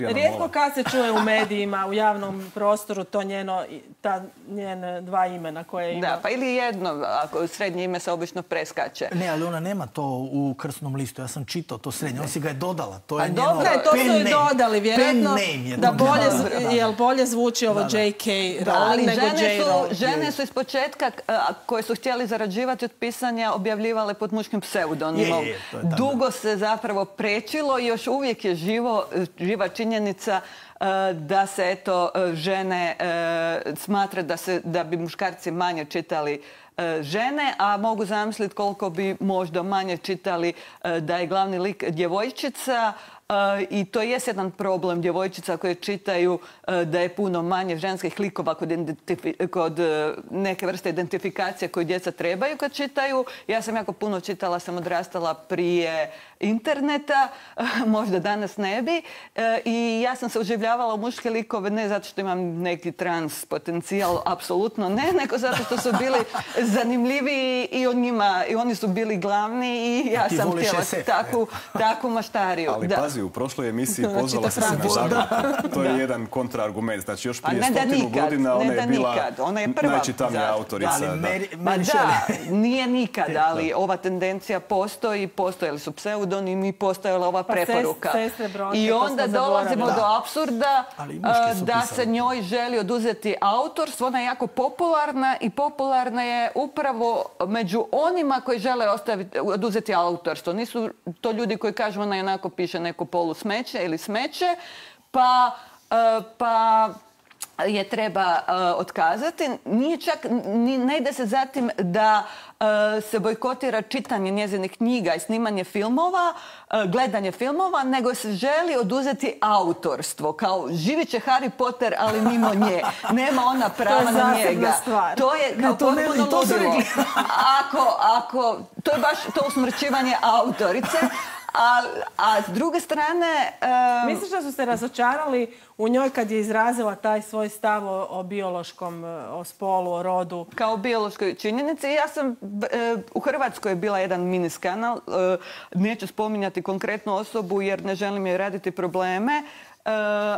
Rijetko kad se čuje u medijima, u javnom prostoru, to njeno, ta njene dva imena koje ima. Da, pa ili jedno, ako srednje ime se obično preskače. Ne, ali ona nema to u krsnom listu. Ja sam čitao to srednje. Ona si ga je dodala. To je njeno dobro, to su i dodali, vjerojatno, da bolje, jel bolje zvuči ovo J K Rowling nego J Rowling. Žene su iz početka, koje su htjeli zarađivati od pisanja, objavljivale pod muškim pseudonimom. Dugo se zapravo prečilo i još uvijek je živo, živa činjenica da se eto žene smatra da, se, da bi muškarci manje čitali žene, a mogu zamisliti koliko bi možda manje čitali da je glavni lik djevojčica. I to je jedan problem djevojčica koje čitaju da je puno manje ženskih likova kod, kod neke vrste identifikacije koju djeca trebaju kad čitaju. Ja sam jako puno čitala, sam odrastala prije interneta, možda danas ne bi. I ja sam se uživljavala u muške likove ne zato što imam neki trans potencijal, apsolutno ne, nego zato što su bili zanimljiviji i, on njima, i oni su bili glavni i ja sam htjela takvu, takvu maštariju. Ali da. Pazi, u prošloj emisiji pozvala se na zakon. To je jedan kontraargument. Znači, još prije stotinu godina ona je bila najčitanija autorica. Pa da, nije nikad, ali ova tendencija postoji, postojali su pseudonimi, postojala ova preporuka. I onda dolazimo do apsurda da se njoj želi oduzeti autorstvo. Ona je jako popularna i popularna je upravo među onima koji žele oduzeti autorstvo. Nisu to ljudi koji kažu ona jednako piše neko polu smeće ili smeće, pa, pa je treba otkazati. Nije čak, ne ide se zatim da se bojkotira čitanje njezinih knjiga i snimanje filmova, gledanje filmova, nego se želi oduzeti autorstvo. Kao živit će Harry Potter, ali mimo nje. Nema ona prava na njega. Stvar. To je kao potpuno ludilo. Ako, ako, to je baš to usmrćivanje autorice. A, a s druge strane... Um... Misliš da su se razočarali u njoj kad je izrazila taj svoj stav o, o biološkom, o spolu, o rodu? Kao biološkoj činjenici. Ja sam e, u Hrvatskoj je bila jedan mini skandal. E, neću spominjati konkretnu osobu jer ne želim joj raditi probleme. Uh,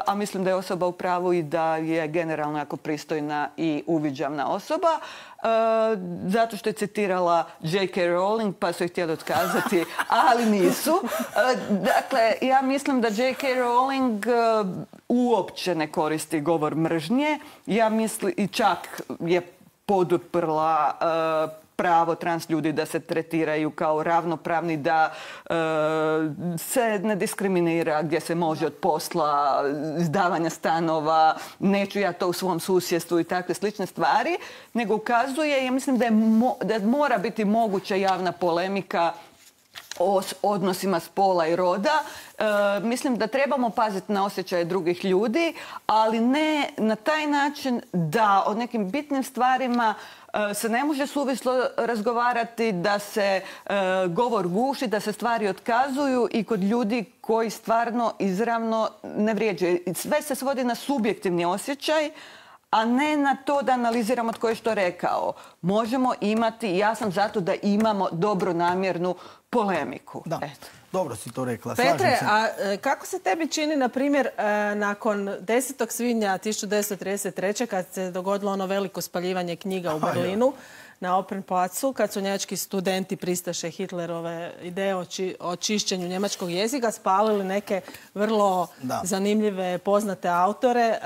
a mislim da je osoba u pravu i da je generalno jako pristojna i uviđavna osoba. Uh, zato što je citirala J K Rowling pa su je htjeli otkazati, ali nisu. Uh, dakle, ja mislim da J K Rowling uh, uopće ne koristi govor mržnje. Ja mislim i čak je poduprla uh, pravo trans ljudi da se tretiraju kao ravnopravni, da e, se ne diskriminira gdje se može od posla, izdavanja stanova, neću ja to u svom susjedstvu i takve slične stvari, nego ukazuje, ja mislim da, je mo, da mora biti moguća javna polemika o odnosima spola i roda. E, mislim da trebamo paziti na osjećaje drugih ljudi, ali ne na taj način da o nekim bitnim stvarima se ne može suvislo razgovarati, da se e, govor guši, da se stvari otkazuju i kod ljudi koji stvarno izravno ne vrijeđaju. Sve se svodi na subjektivni osjećaj, a ne na to da analiziramo tko je što rekao. Možemo imati, ja sam zato da imamo dobronamjernu polemiku. Da. Eto. Dobro si to rekla. Petre, a kako se tebi čini, na primjer, nakon desetog svibnja tisuću devetsto trideset treće kad se dogodilo ono veliko spaljivanje knjiga u Berlinu na Opern placu, kad su njemački studenti pristaše Hitlerove ideje o, či, o čišćenju njemačkog jezika, spalili neke vrlo da. zanimljive, poznate autore. E,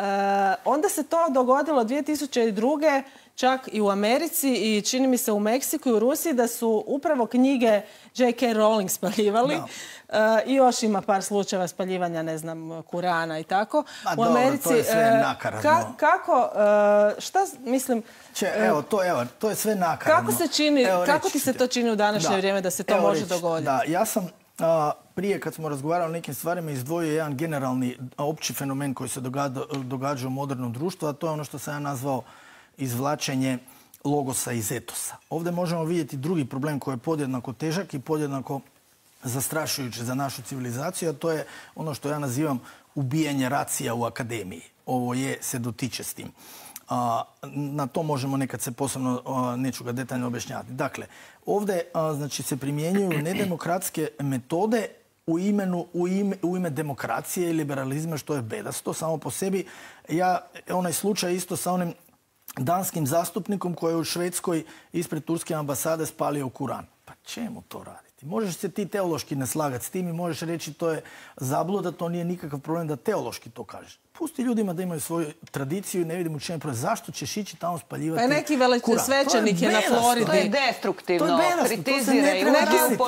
onda se to dogodilo dvije tisuće druge čak i u Americi i čini mi se u Meksiku i u Rusiji da su upravo knjige J K Rowling spaljivali. Uh, I još ima par slučajeva spaljivanja, ne znam, Kurana i tako. Ma, u dobro, Americi, to je sve nakaradno. Ka, kako, uh, šta, mislim... Če, evo, to, evo, to je sve nakaradno. Kako se čini, evo, kako ti se to čini u današnje da. vrijeme da se to evo, može reći, dogoditi? Da, ja sam a, prije kad smo razgovarali o nekim stvarima izdvojio jedan generalni opći fenomen koji se događa, događa u modernom društvu, a to je ono što sam ja nazvao izvlačenje logosa iz etosa. Ovdje možemo vidjeti drugi problem koji je podjednako težak i podjednako zastrašujući za našu civilizaciju, a to je ono što ja nazivam ubijanje racija u akademiji. Ovo je, se dotiče s tim. A, na to možemo nekad se posebno, a, neću ga detaljno objašnjavati. Dakle, ovdje a, znači, se primjenjuju nedemokratske metode u, imenu, u, ime, u ime demokracije i liberalizma, što je bedasto samo po sebi. Ja, onaj slučaj isto sa onim danskim zastupnikom koji je u Švedskoj ispred turske ambasade spalio Kuran. Pa čemu to raditi? Možeš se ti teološki ne slagati s tim i možeš reći to je zabluda, to nije nikakav problem da teološki to kažeš. Pusti ljudima da imaju svoju tradiciju i ne vidim u čemu problem. Zašto ćeš ići tamo spaljivati Kuran? Neki svećenik je na Floridi. To je destruktivno. Kritiziraju.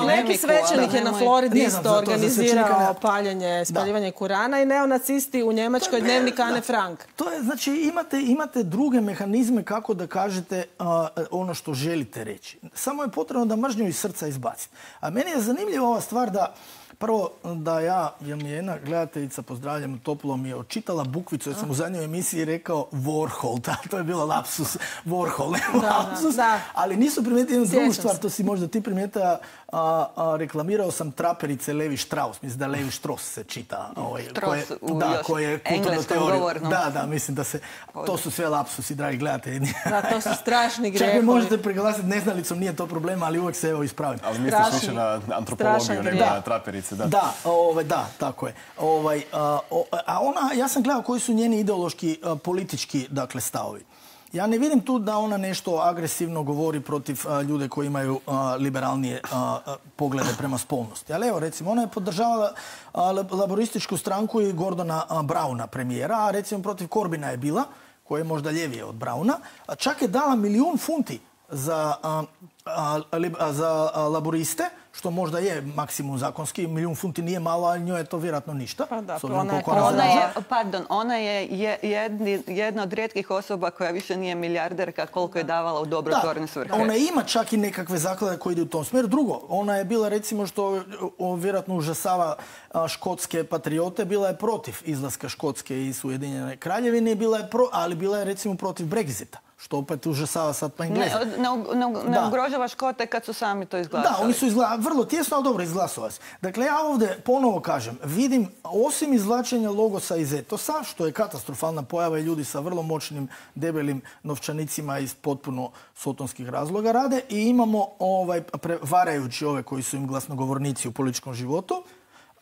Neki svećenik je na Floridi isto organizirao paljenje, spaljivanje Kurana i neonacisti u Njemačkoj dnevnik Ane Frank. To je, znači, imate, imate druge mehanizme kako da kažete uh, ono što želite reći. Samo je potrebno da mržnju iz srca izbaciti. A meni je zanimljiva ova stvar da prvo, da ja, jer mi je jedna gledateljica, pozdravljam toplo, mi je očitala bukvicu, jer sam u zadnjoj emisiji rekao Warhol, da, to je bilo lapsus, Warhol, ne da, lapsus, da. Ali nisu primijetili jednu drugu stvar, to si možda ti primijetila, a, a, reklamirao sam traperice Levi Strauss, mislim da Levi Strauss se čita, ovaj, Strauss koje, u da, još koje engleskom govornom. Da, da, mislim da se, to su sve lapsusi, dragi gledatelji. Da, to su strašni grehovi. Čak me možete preglasiti neznalicom, nije to problema, ali uvijek se evo ispravim. Ali misliš više na antropologiju nego na traperice, da. Da, ovaj, da, tako je. Ovaj, a, a ona, ja sam gledao koji su njeni ideološki, a, politički, dakle, stavovi. Ja ne vidim tu da ona nešto agresivno govori protiv a, ljude koji imaju a, liberalnije a, a, poglede prema spolnosti. Ali evo, recimo, ona je podržavala a, laborističku stranku i Gordona a, Brauna, premijera, a recimo protiv Corbina je bila, koja je možda ljevije od Brauna, a čak je dala milijun funti za, a, a, a, za a, laboriste, što možda je maksimum zakonski, milijun funti nije malo, ali njoj je to vjerojatno ništa. Pa da, ona, ona, je, ona, ona je, pardon, ona je jedni, jedna od rijetkih osoba koja više nije milijarderka koliko je davala u dobrotvorne svrhe. Ona ima čak i nekakve zaklade koje ide u tom smjeru. Drugo, ona je bila, recimo, što o, vjerojatno užasava a, škotske patriote, bila je protiv izlaska Škotske iz Ujedinjene Kraljevine, bila je pro, ali bila je recimo protiv Brexita. Što opet užasava sad pa Engleza. Ne, ne, ne, ne ugrožava Škote kad su sami to izglasali. Da, oni su izgla... vrlo tjesno, ali dobro izglasovali. Dakle, ja ovdje ponovo kažem, vidim, osim izvlačenja logosa iz etosa, što je katastrofalna pojava i ljudi sa vrlo moćnim, debelim novčanicima iz potpuno sotonskih razloga rade, i imamo ovaj, varajući ove koji su im glasnogovornici u političkom životu,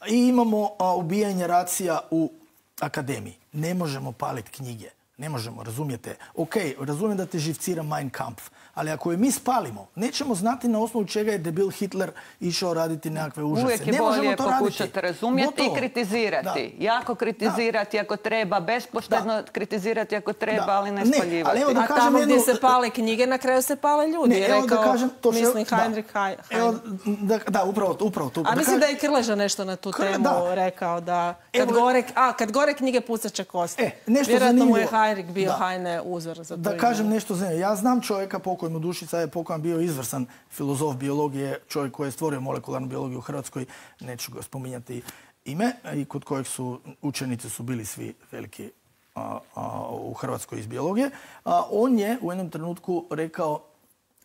i imamo a, ubijanje racija u akademiji. Ne možemo paliti knjige. Ne možemo, razumijete. Ok, razumijem da te živcira Mein Kampf, ali ako je mi spalimo, nećemo znati na osnovu čega je debil Hitler išao raditi nekakve užase. Uvijek je ne bolje pokušati razumjeti Gotovo. I kritizirati. Da. Jako kritizirati da. Ako treba, bespoštedno da. Kritizirati ako treba, da. Ali ne spaljivati. Ne, ali a tamo jednu... gdje se pale knjige, na kraju se pale ljudi. Ne, evo rekao, da kažem, to mislim, Heinrich Heine. Evo, da, da, upravo to. Upravo to. A da mislim kažem, da je Krleža nešto na tu Krle, temu da. Rekao da kad, evo, gore, a, kad gore knjige pucat će kosti. E, nešto vjerojatno zanimljivo. Mu je Heinrich bio da. Heine uzor za to. Da kažem nešto zanimljivo. Ja znam čovjeka, pokoj mu dušica je pokojan, bio izvrsan filozof biologije, čovjek koji je stvorio molekularnu biologiju u Hrvatskoj, neću ga spominjati ime, i kod kojeg su učenici su bili svi veliki a, a, u Hrvatskoj iz biologije. A, on je u jednom trenutku rekao,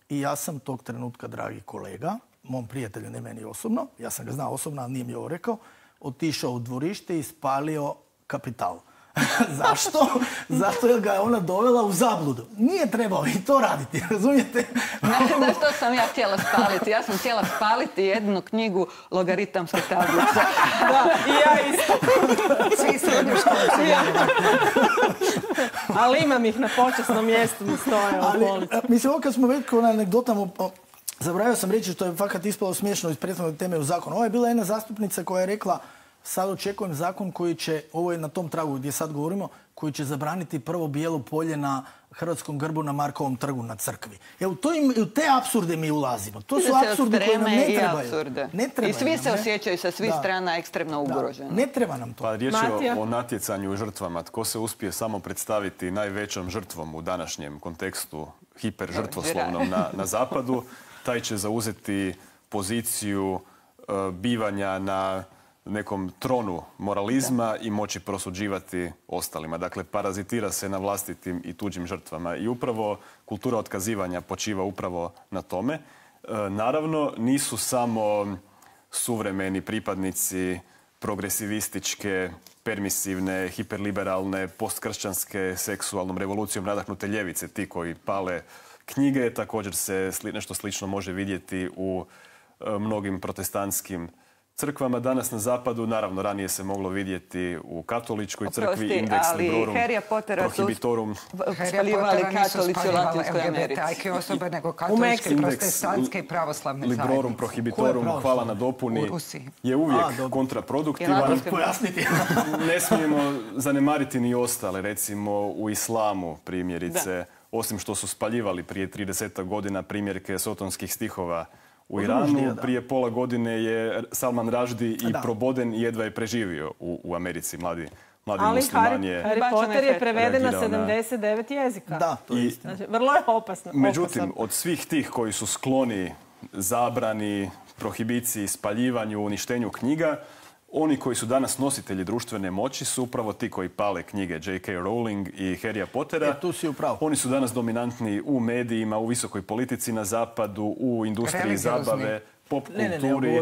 i ja sam tog trenutka, dragi kolega, mom prijatelju, ne meni osobno, ja sam ga znao osobno, ali nije mi ovo rekao, otišao u dvorište i spalio Kapital. Zašto? Zato jer ga je ona dovela u zabludu. Nije trebao i to raditi, razumijete? Znate što sam ja htjela spaliti? Ja sam htjela spaliti jednu knjigu logaritamske tablice. Da, i ja isto. Svi srednju školu. Ali imam ih na počasnom mjestu, mi stoje u polici. Mislim, ovo kad smo već na anegdotama, zaboravio sam reći što je fakat ispalo smiješno iz prethodne teme u zakonu. Ovo je bila jedna zastupnica koja je rekla, sad očekujem zakon koji će, ovo je na tom tragu gdje sad govorimo, koji će zabraniti prvo bijelo polje na hrvatskom grbu na Markovom trgu na crkvi. Evo, to im, u te apsurde mi ulazimo. To su apsurdi koji nam ne trebaju. Ne trebaju. I svi se osjećaju sa svih da. Strana ekstremno ugroženo. Ne treba nam to. Pa riječ je o, o natjecanju i žrtvama. Tko se uspije samo predstaviti najvećom žrtvom u današnjem kontekstu hiperžrtvoslovnom na, na zapadu, taj će zauzeti poziciju uh, bivanja na nekom tronu moralizma da. I moći prosuđivati ostalima. Dakle, parazitira se na vlastitim i tuđim žrtvama. I upravo kultura otkazivanja počiva upravo na tome. E, naravno, nisu samo suvremeni pripadnici progresivističke permisivne, hiperliberalne, postkršćanske, seksualnom revolucijom nadahnute ljevice, ti koji pale knjige. Također se nešto slično može vidjeti u mnogim protestantskim crkvama danas na zapadu. Naravno, ranije se moglo vidjeti u katoličkoj crkvi, Index Librorum Prohibitorum. Spaljivali katolici u Latinskoj Americi. Ajke osobe nego katoličke, protestantske i pravoslavne zajednice. Librorum Prohibitorum, hvala na dopuni, je uvijek kontraproduktivan. Ne smijemo zanemariti ni ostale, recimo u islamu primjerice, osim što su spaljivali prije trideset godina primjerke sotonskih stihova u Iranu. Prije pola godine je Salman Rushdie i proboden i jedva je preživio u, u Americi. Mladi, mladi musliman je... Ali Harry Potter je preveden na sedamdeset devet jezika. Da, to je istina. Znači, vrlo je opasno. Međutim, od svih tih koji su skloni zabrani, prohibiciji, spaljivanju, uništenju knjiga, oni koji su danas nositelji društvene moći su upravo ti koji pale knjige J K. Rowling i Harrya Pottera. E, tu si upravo. Oni su danas dominantni u medijima, u visokoj politici na zapadu, u industriji zabave, pop kulturi,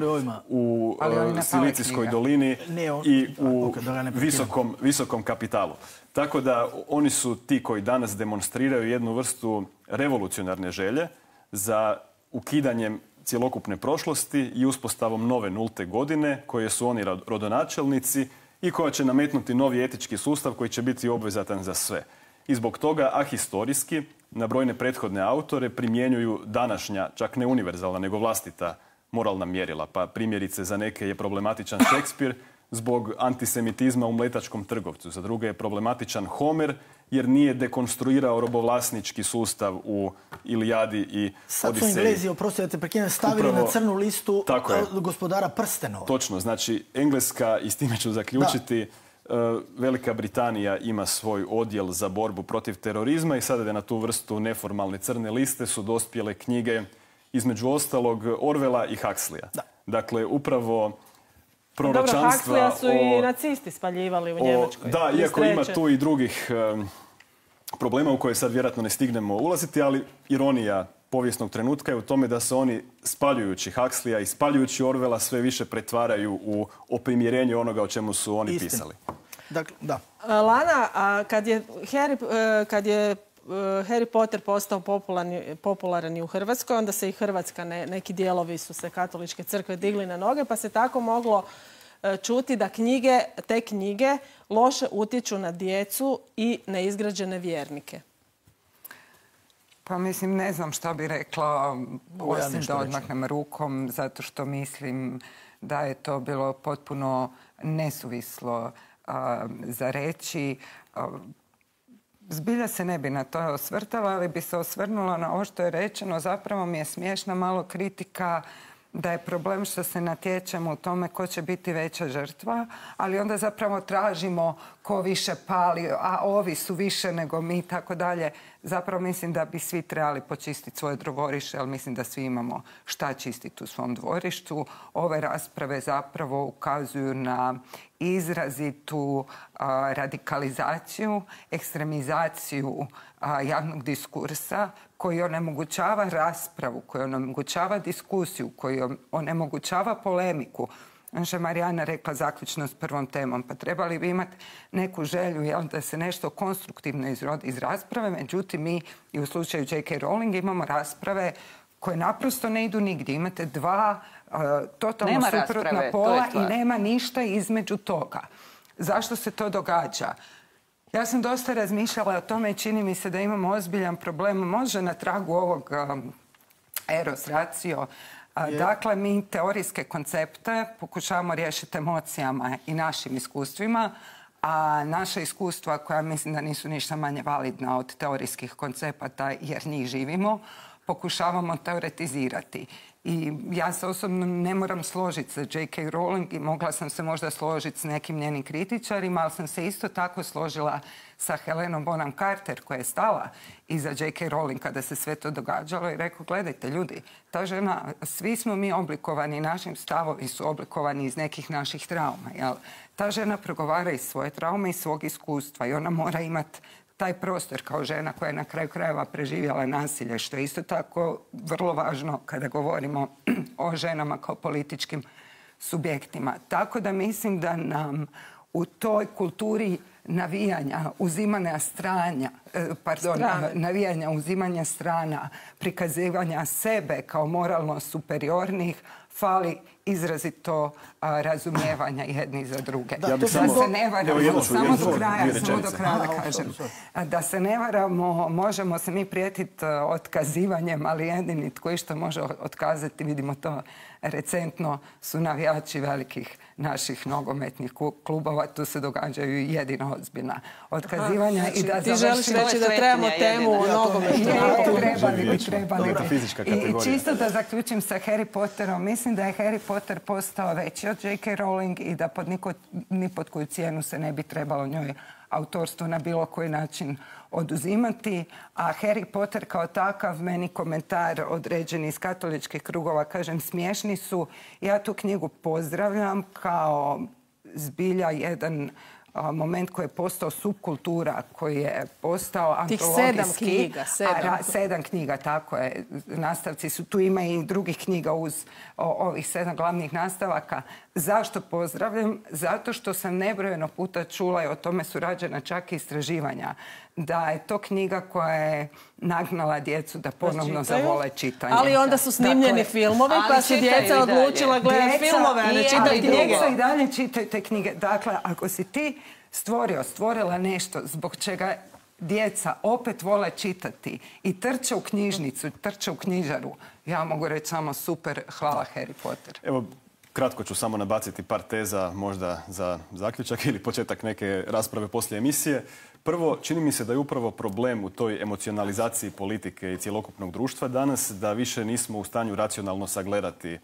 u Silicijskoj dolini i u visokom, visokom kapitalu. Tako da oni su ti koji danas demonstriraju jednu vrstu revolucionarne želje za ukidanjem cjelokupne prošlosti i uspostavom nove nulte godine koje su oni rodonačelnici i koja će nametnuti novi etički sustav koji će biti obvezatan za sve. I zbog toga ahistorijski na brojne prethodne autore primjenjuju današnja, čak ne univerzalna, nego vlastita moralna mjerila. Pa primjerice za neke je problematičan Šekspir zbog antisemitizma u Mletačkom trgovcu. Za druge je problematičan Homer jer nije dekonstruirao robovlasnički sustav u Ilijadi i Odiseji. Sad su Englezi, oprosti da te prekinem, stavili na crnu listu Gospodara prstenova. Točno, znači Engleska, i s time ću zaključiti, Velika Britanija ima svoj odjel za borbu protiv terorizma i sada je na tu vrstu neformalne crne liste su dospjele knjige između ostalog Orwella i Huxleya. Dakle, upravo proročanstva... Dobro, Huxleya su i nacisti spaljivali u Njemačkoj. Da, iako ima tu i drugih problema u koje sad vjerojatno ne stignemo ulaziti, ali ironija povijesnog trenutka je u tome da se oni spaljujući Huxleya i spaljujući Orwella sve više pretvaraju u oprimjerenje onoga o čemu su oni pisali. Dakle, da. Lana, a kad je Harry, kad je Harry Potter postao popularan i u Hrvatskoj, onda se i Hrvatska, neki dijelovi su se katoličke crkve digli na noge, pa se tako moglo čuti da knjige, te knjige loše utječu na djecu i neizgrađene vjernike. Pa mislim, ne znam šta bi rekla, osim da odmahnem rukom, zato što mislim da je to bilo potpuno nesuvislo za reći. Zbilja se ne bi na to osvrtala, ali bi se osvrnula na ovo što je rečeno. Zapravo mi je smiješna malo kritika da je problem što se natječemo u tome ko će biti veća žrtva, ali onda zapravo tražimo ko više pali, a ovi su više nego mi, tako dalje. Zapravo mislim da bi svi trebali počistiti svoje dvorište, ali mislim da svi imamo šta čistiti u svom dvorištu. Ove rasprave zapravo ukazuju na izrazitu a, radikalizaciju, ekstremizaciju a, javnog diskursa koji onemogućava raspravu, koji onemogućava diskusiju, koji onemogućava polemiku. Naša Marijana rekla zaključno s prvom temom, pa trebali bi imati neku želju jel, da se nešto konstruktivno izrodi iz rasprave. Međutim, mi i u slučaju J K. Rowling imamo rasprave koje naprosto ne idu nigdje. Imate dva uh, totalno nema suprotna rasprave, pola i nema ništa između toga. Zašto se to događa? Ja sam dosta razmišljala o tome i čini mi se da imamo ozbiljan problem. Može na tragu ovog um, eros ratio. Yeah. Dakle, mi teorijske koncepte pokušavamo riješiti emocijama i našim iskustvima, a naša iskustva, koja mislim da nisu ništa manje validna od teorijskih koncepata jer njih živimo, pokušavamo teoretizirati. I ja se osobno ne moram složiti sa J K. Rowling i mogla sam se možda složiti s nekim njenim kritičarima, ali sam se isto tako složila sa Helenom Bonham Carter koja je stala iza J K. Rowling kada se sve to događalo i rekao, gledajte ljudi, ta žena, svi smo mi oblikovani, našim stavovi su oblikovani iz nekih naših trauma. Jel? Ta žena progovara iz svoje traume i svog iskustva i ona mora imati taj prostor kao žena koja je na kraju krajeva preživjela nasilje, što je isto tako vrlo važno kada govorimo o ženama kao političkim subjektima. Tako da mislim da nam u toj kulturi navijanja, uzimanja stranja, pardon, Strane. navijanja, uzimanja strana, prikazivanja sebe kao moralno superiornih, fali izrazito a, razumijevanja jedni za druge. Da, Da, to se samo- ne Evo, varamo, jednu ću- samo jednu do ću- kraja, dvije samo do rečenice. kraja da Aha, kažem. sorry, A, Da se ne varamo, možemo se mi prijetiti otkazivanjem, ali jedini tko išta može otkazati, vidimo to recentno, su navijači velikih naših nogometnih klubova. Tu se događaju jedino ozbiljna otkazivanja. Znači, I da ti želiš završimo- reći da trebamo Svetinja temu o jedina. nogometu. Je, trebali bi, Vječno. trebali Dobra, bi. fizička I kategorija. čisto da zaključim sa Harry Potterom, mislim da je Harry Potter postao veći od J K. Rowling i da pod niko, ni pod koju cijenu se ne bi trebalo njoj autorstvo na bilo koji način oduzimati. A Harry Potter kao takav, meni komentar određeni iz katoličkih krugova, kažem, smiješni su. Ja tu knjigu pozdravljam kao zbilja jedan a, moment koji je postao subkultura, koji je postao Tih antologijski. sedam knjiga, sedam. A, ra- sedam knjiga, tako je. Nastavci su tu, ima i drugih knjiga uz o, ovih sedam glavnih nastavaka. Zašto pozdravljam? Zato što sam nebrojeno puta čula i o tome su rađena čak i istraživanja, da je to knjiga koja je nagnala djecu da ponovno čitaju. zavole čitanje. Ali onda su snimljeni Dakle, filmovi, pa ali su čitaju djeca i dalje. odlučila gledati Djeca filmove, a ne i- čitati ali knjige. djeca i dalje čitaju te knjige. Dakle, ako si ti stvorio, stvorila nešto zbog čega djeca opet vole čitati i trče u knjižnicu, trče u knjižaru, ja mogu reći samo super, hvala Harry Potter. Evo, kratko ću samo nabaciti par teza možda za zaključak ili početak neke rasprave poslije emisije. Prvo, čini mi se da je upravo problem u toj emocionalizaciji politike i cjelokupnog društva danas, da više nismo u stanju racionalno sagledati e,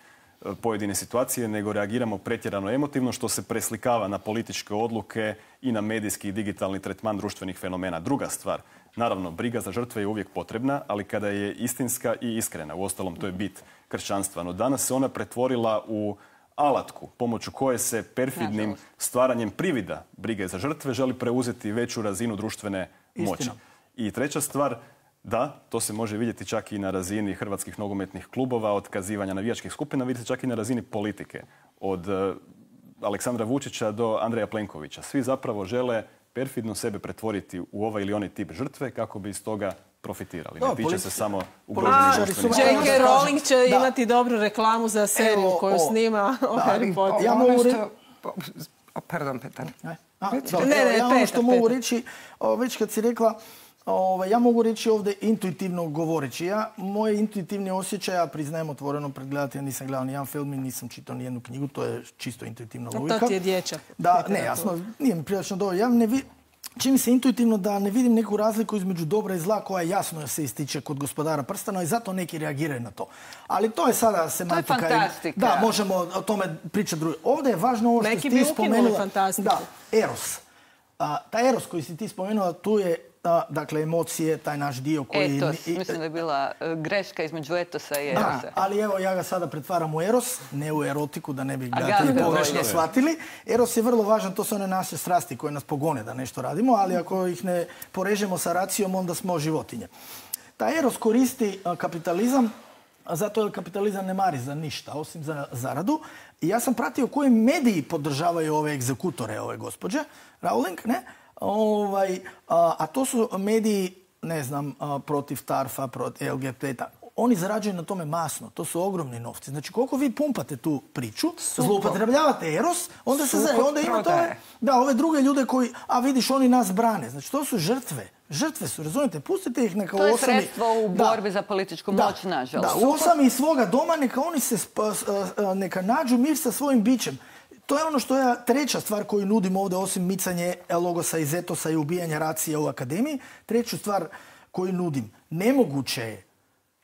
pojedine situacije, nego reagiramo pretjerano emotivno, što se preslikava na političke odluke i na medijski i digitalni tretman društvenih fenomena. Druga stvar, naravno, briga za žrtve je uvijek potrebna, ali kada je istinska i iskrena. Uostalom, to je bit kršćanstva. No danas se ona pretvorila u alatku pomoću koje se perfidnim Nažalost. stvaranjem privida brige za žrtve želi preuzeti veću razinu društvene moći. Istina. I treća stvar, da, to se može vidjeti čak i na razini hrvatskih nogometnih klubova, otkazivanja navijačkih skupina, vidite čak i na razini politike. Od uh, Aleksandra Vučića do Andreja Plenkovića. Svi zapravo žele perfidno sebe pretvoriti u ovaj ili onaj tip žrtve kako bi iz toga profitirali. Da, Ne tiče politi- se samo A, ugroženih političari društvenih su- J skupina. K. Da. Rowling će Da. imati dobru reklamu za seriju Evo, koju o, snima o da, Harry ali- Potteru. Ja Ono mogu što- o, Pardon, Petar. Ne? A, Reci. dobro, Ne, evo, ne, ja ono Petar, što mogu Petar. reći, o, već kad si rekla, ovaj, ja mogu reći ovdje intuitivno govoreći. Ja, moje intuitivni osjećaj, ja priznajem otvoreno pred gledateljem, nisam gledao ni jedan film i nisam čitao ni jednu knjigu, to je čisto intuitivna A logika. to ti je dječak. Da, ne, jasno, nije mi prilično dobro. Ja ne vi... Čini mi se intuitivno da ne vidim neku razliku između dobra i zla koja jasno se ističe kod Gospodara prstena i zato neki reagiraju na to. Ali to je sada semantika. i- fantastika. Da, možemo o tome pričati drugo. Ovdje je važno ovo što Neki si bi ti ukinuli spomenula. fantastiku. Da, eros. A, taj eros koji si ti spomenula, tu je a, dakle emocije, taj naš dio koji... Etos. i- Mislim da je bila e, greška između etosa i Da, erosa. ali evo ja ga sada pretvaram u eros, ne u erotiku, da ne bi A gledatelji ga- pogrešno bolje. shvatili. Eros je vrlo važan, to su one naše strasti koje nas pogone da nešto radimo, ali ako ih ne porežemo sa racijom, onda smo životinje. Taj eros koristi a, kapitalizam, a zato jer kapitalizam ne mari za ništa, osim za zaradu. I ja sam pratio koji mediji podržavaju ove egzekutore, ove gospođe, Rowling, ne? Ovaj, a, a to su mediji, ne znam, a, protiv Tarfa, protiv L G B T. Oni zarađuju na tome masno. To su ogromni novci. Znači, koliko vi pumpate tu priču, zloupotrebljavate eros, onda se Sukob za, onda imate ove, prodaje. da, ove druge ljude koji, a vidiš, oni nas brane. Znači, to su žrtve. Žrtve su, razumijete? Pustite ih neka To je osami... sredstvo u Da. borbi za političku Da, moć, nažalost. Da, u osami svoga doma neka oni se sp- s- a, neka nađu mir sa svojim bićem. To je ono što je treća stvar koju nudim ovdje, osim micanje logosa iz etosa i ubijanja racije u akademiji. Treću stvar koju nudim. Nemoguće je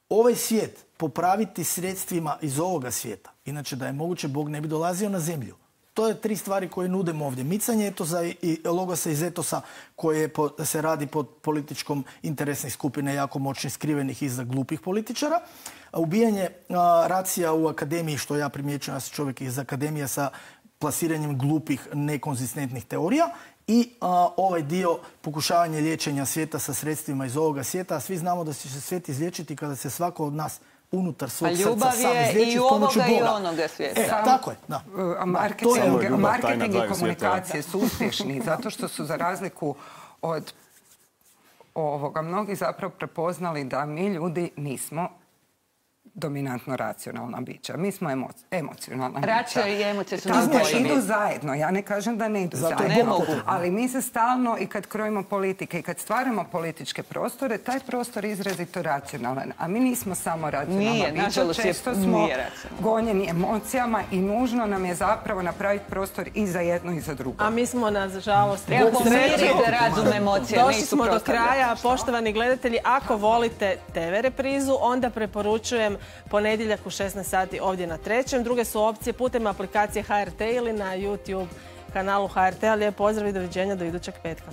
ovaj svijet popraviti sredstvima iz ovoga svijeta. Inače, da je moguće, Bog ne bi dolazio na zemlju. To je tri stvari koje nudimo ovdje. Micanje etosa i logosa iz etosa koje po, se radi pod političkom interesnih skupine jako moćnih skrivenih iza glupih političara. A ubijanje a, racija u akademiji, što ja primjećujem, ja sam čovjek iz akademije sa plasiranjem glupih, nekonzistentnih teorija i a, ovaj dio pokušavanja liječenja svijeta sa sredstvima iz ovoga svijeta. A svi znamo da će se svijet izliječiti kada se svako od nas unutar svog Pa srca ljubav sam je izliječit i s pomoću ovoga i Boga. onoga svijeta. E, tako je, da. A marketing, Samo je ljubav, marketing tajna i dvaju komunikacije su uspješni zato što su za razliku od ovoga mnogi zapravo prepoznali da mi ljudi nismo dominantno racionalna bića. Mi smo emo, emocionalna bića. Racio i emocije su Tako neodvojivi. idu zajedno. Ja ne kažem da ne idu Zato zajedno. ne mogu. Ali mi se stalno i kad krojimo politike i kad stvaramo političke prostore, taj prostor je izrazito racionalan. A mi nismo samo racionalna Nije, bića. nažalost, je- Često smo nije racionalno. gonjeni emocijama i nužno nam je zapravo napraviti prostor i za jedno i za drugo. A mi smo, nažalost, Treba Bog pomiriti sreću, razum emocije, došli nisu smo do prostavljati. kraja. Poštovani gledatelji, ako volite te ve reprizu, onda preporučujem ponedjeljak u šesnaest sati ovdje na Trećem. Druge su opcije putem aplikacije ha er te ili na YouTube kanalu ha er te. Lijep pozdrav i doviđenja do idućeg petka.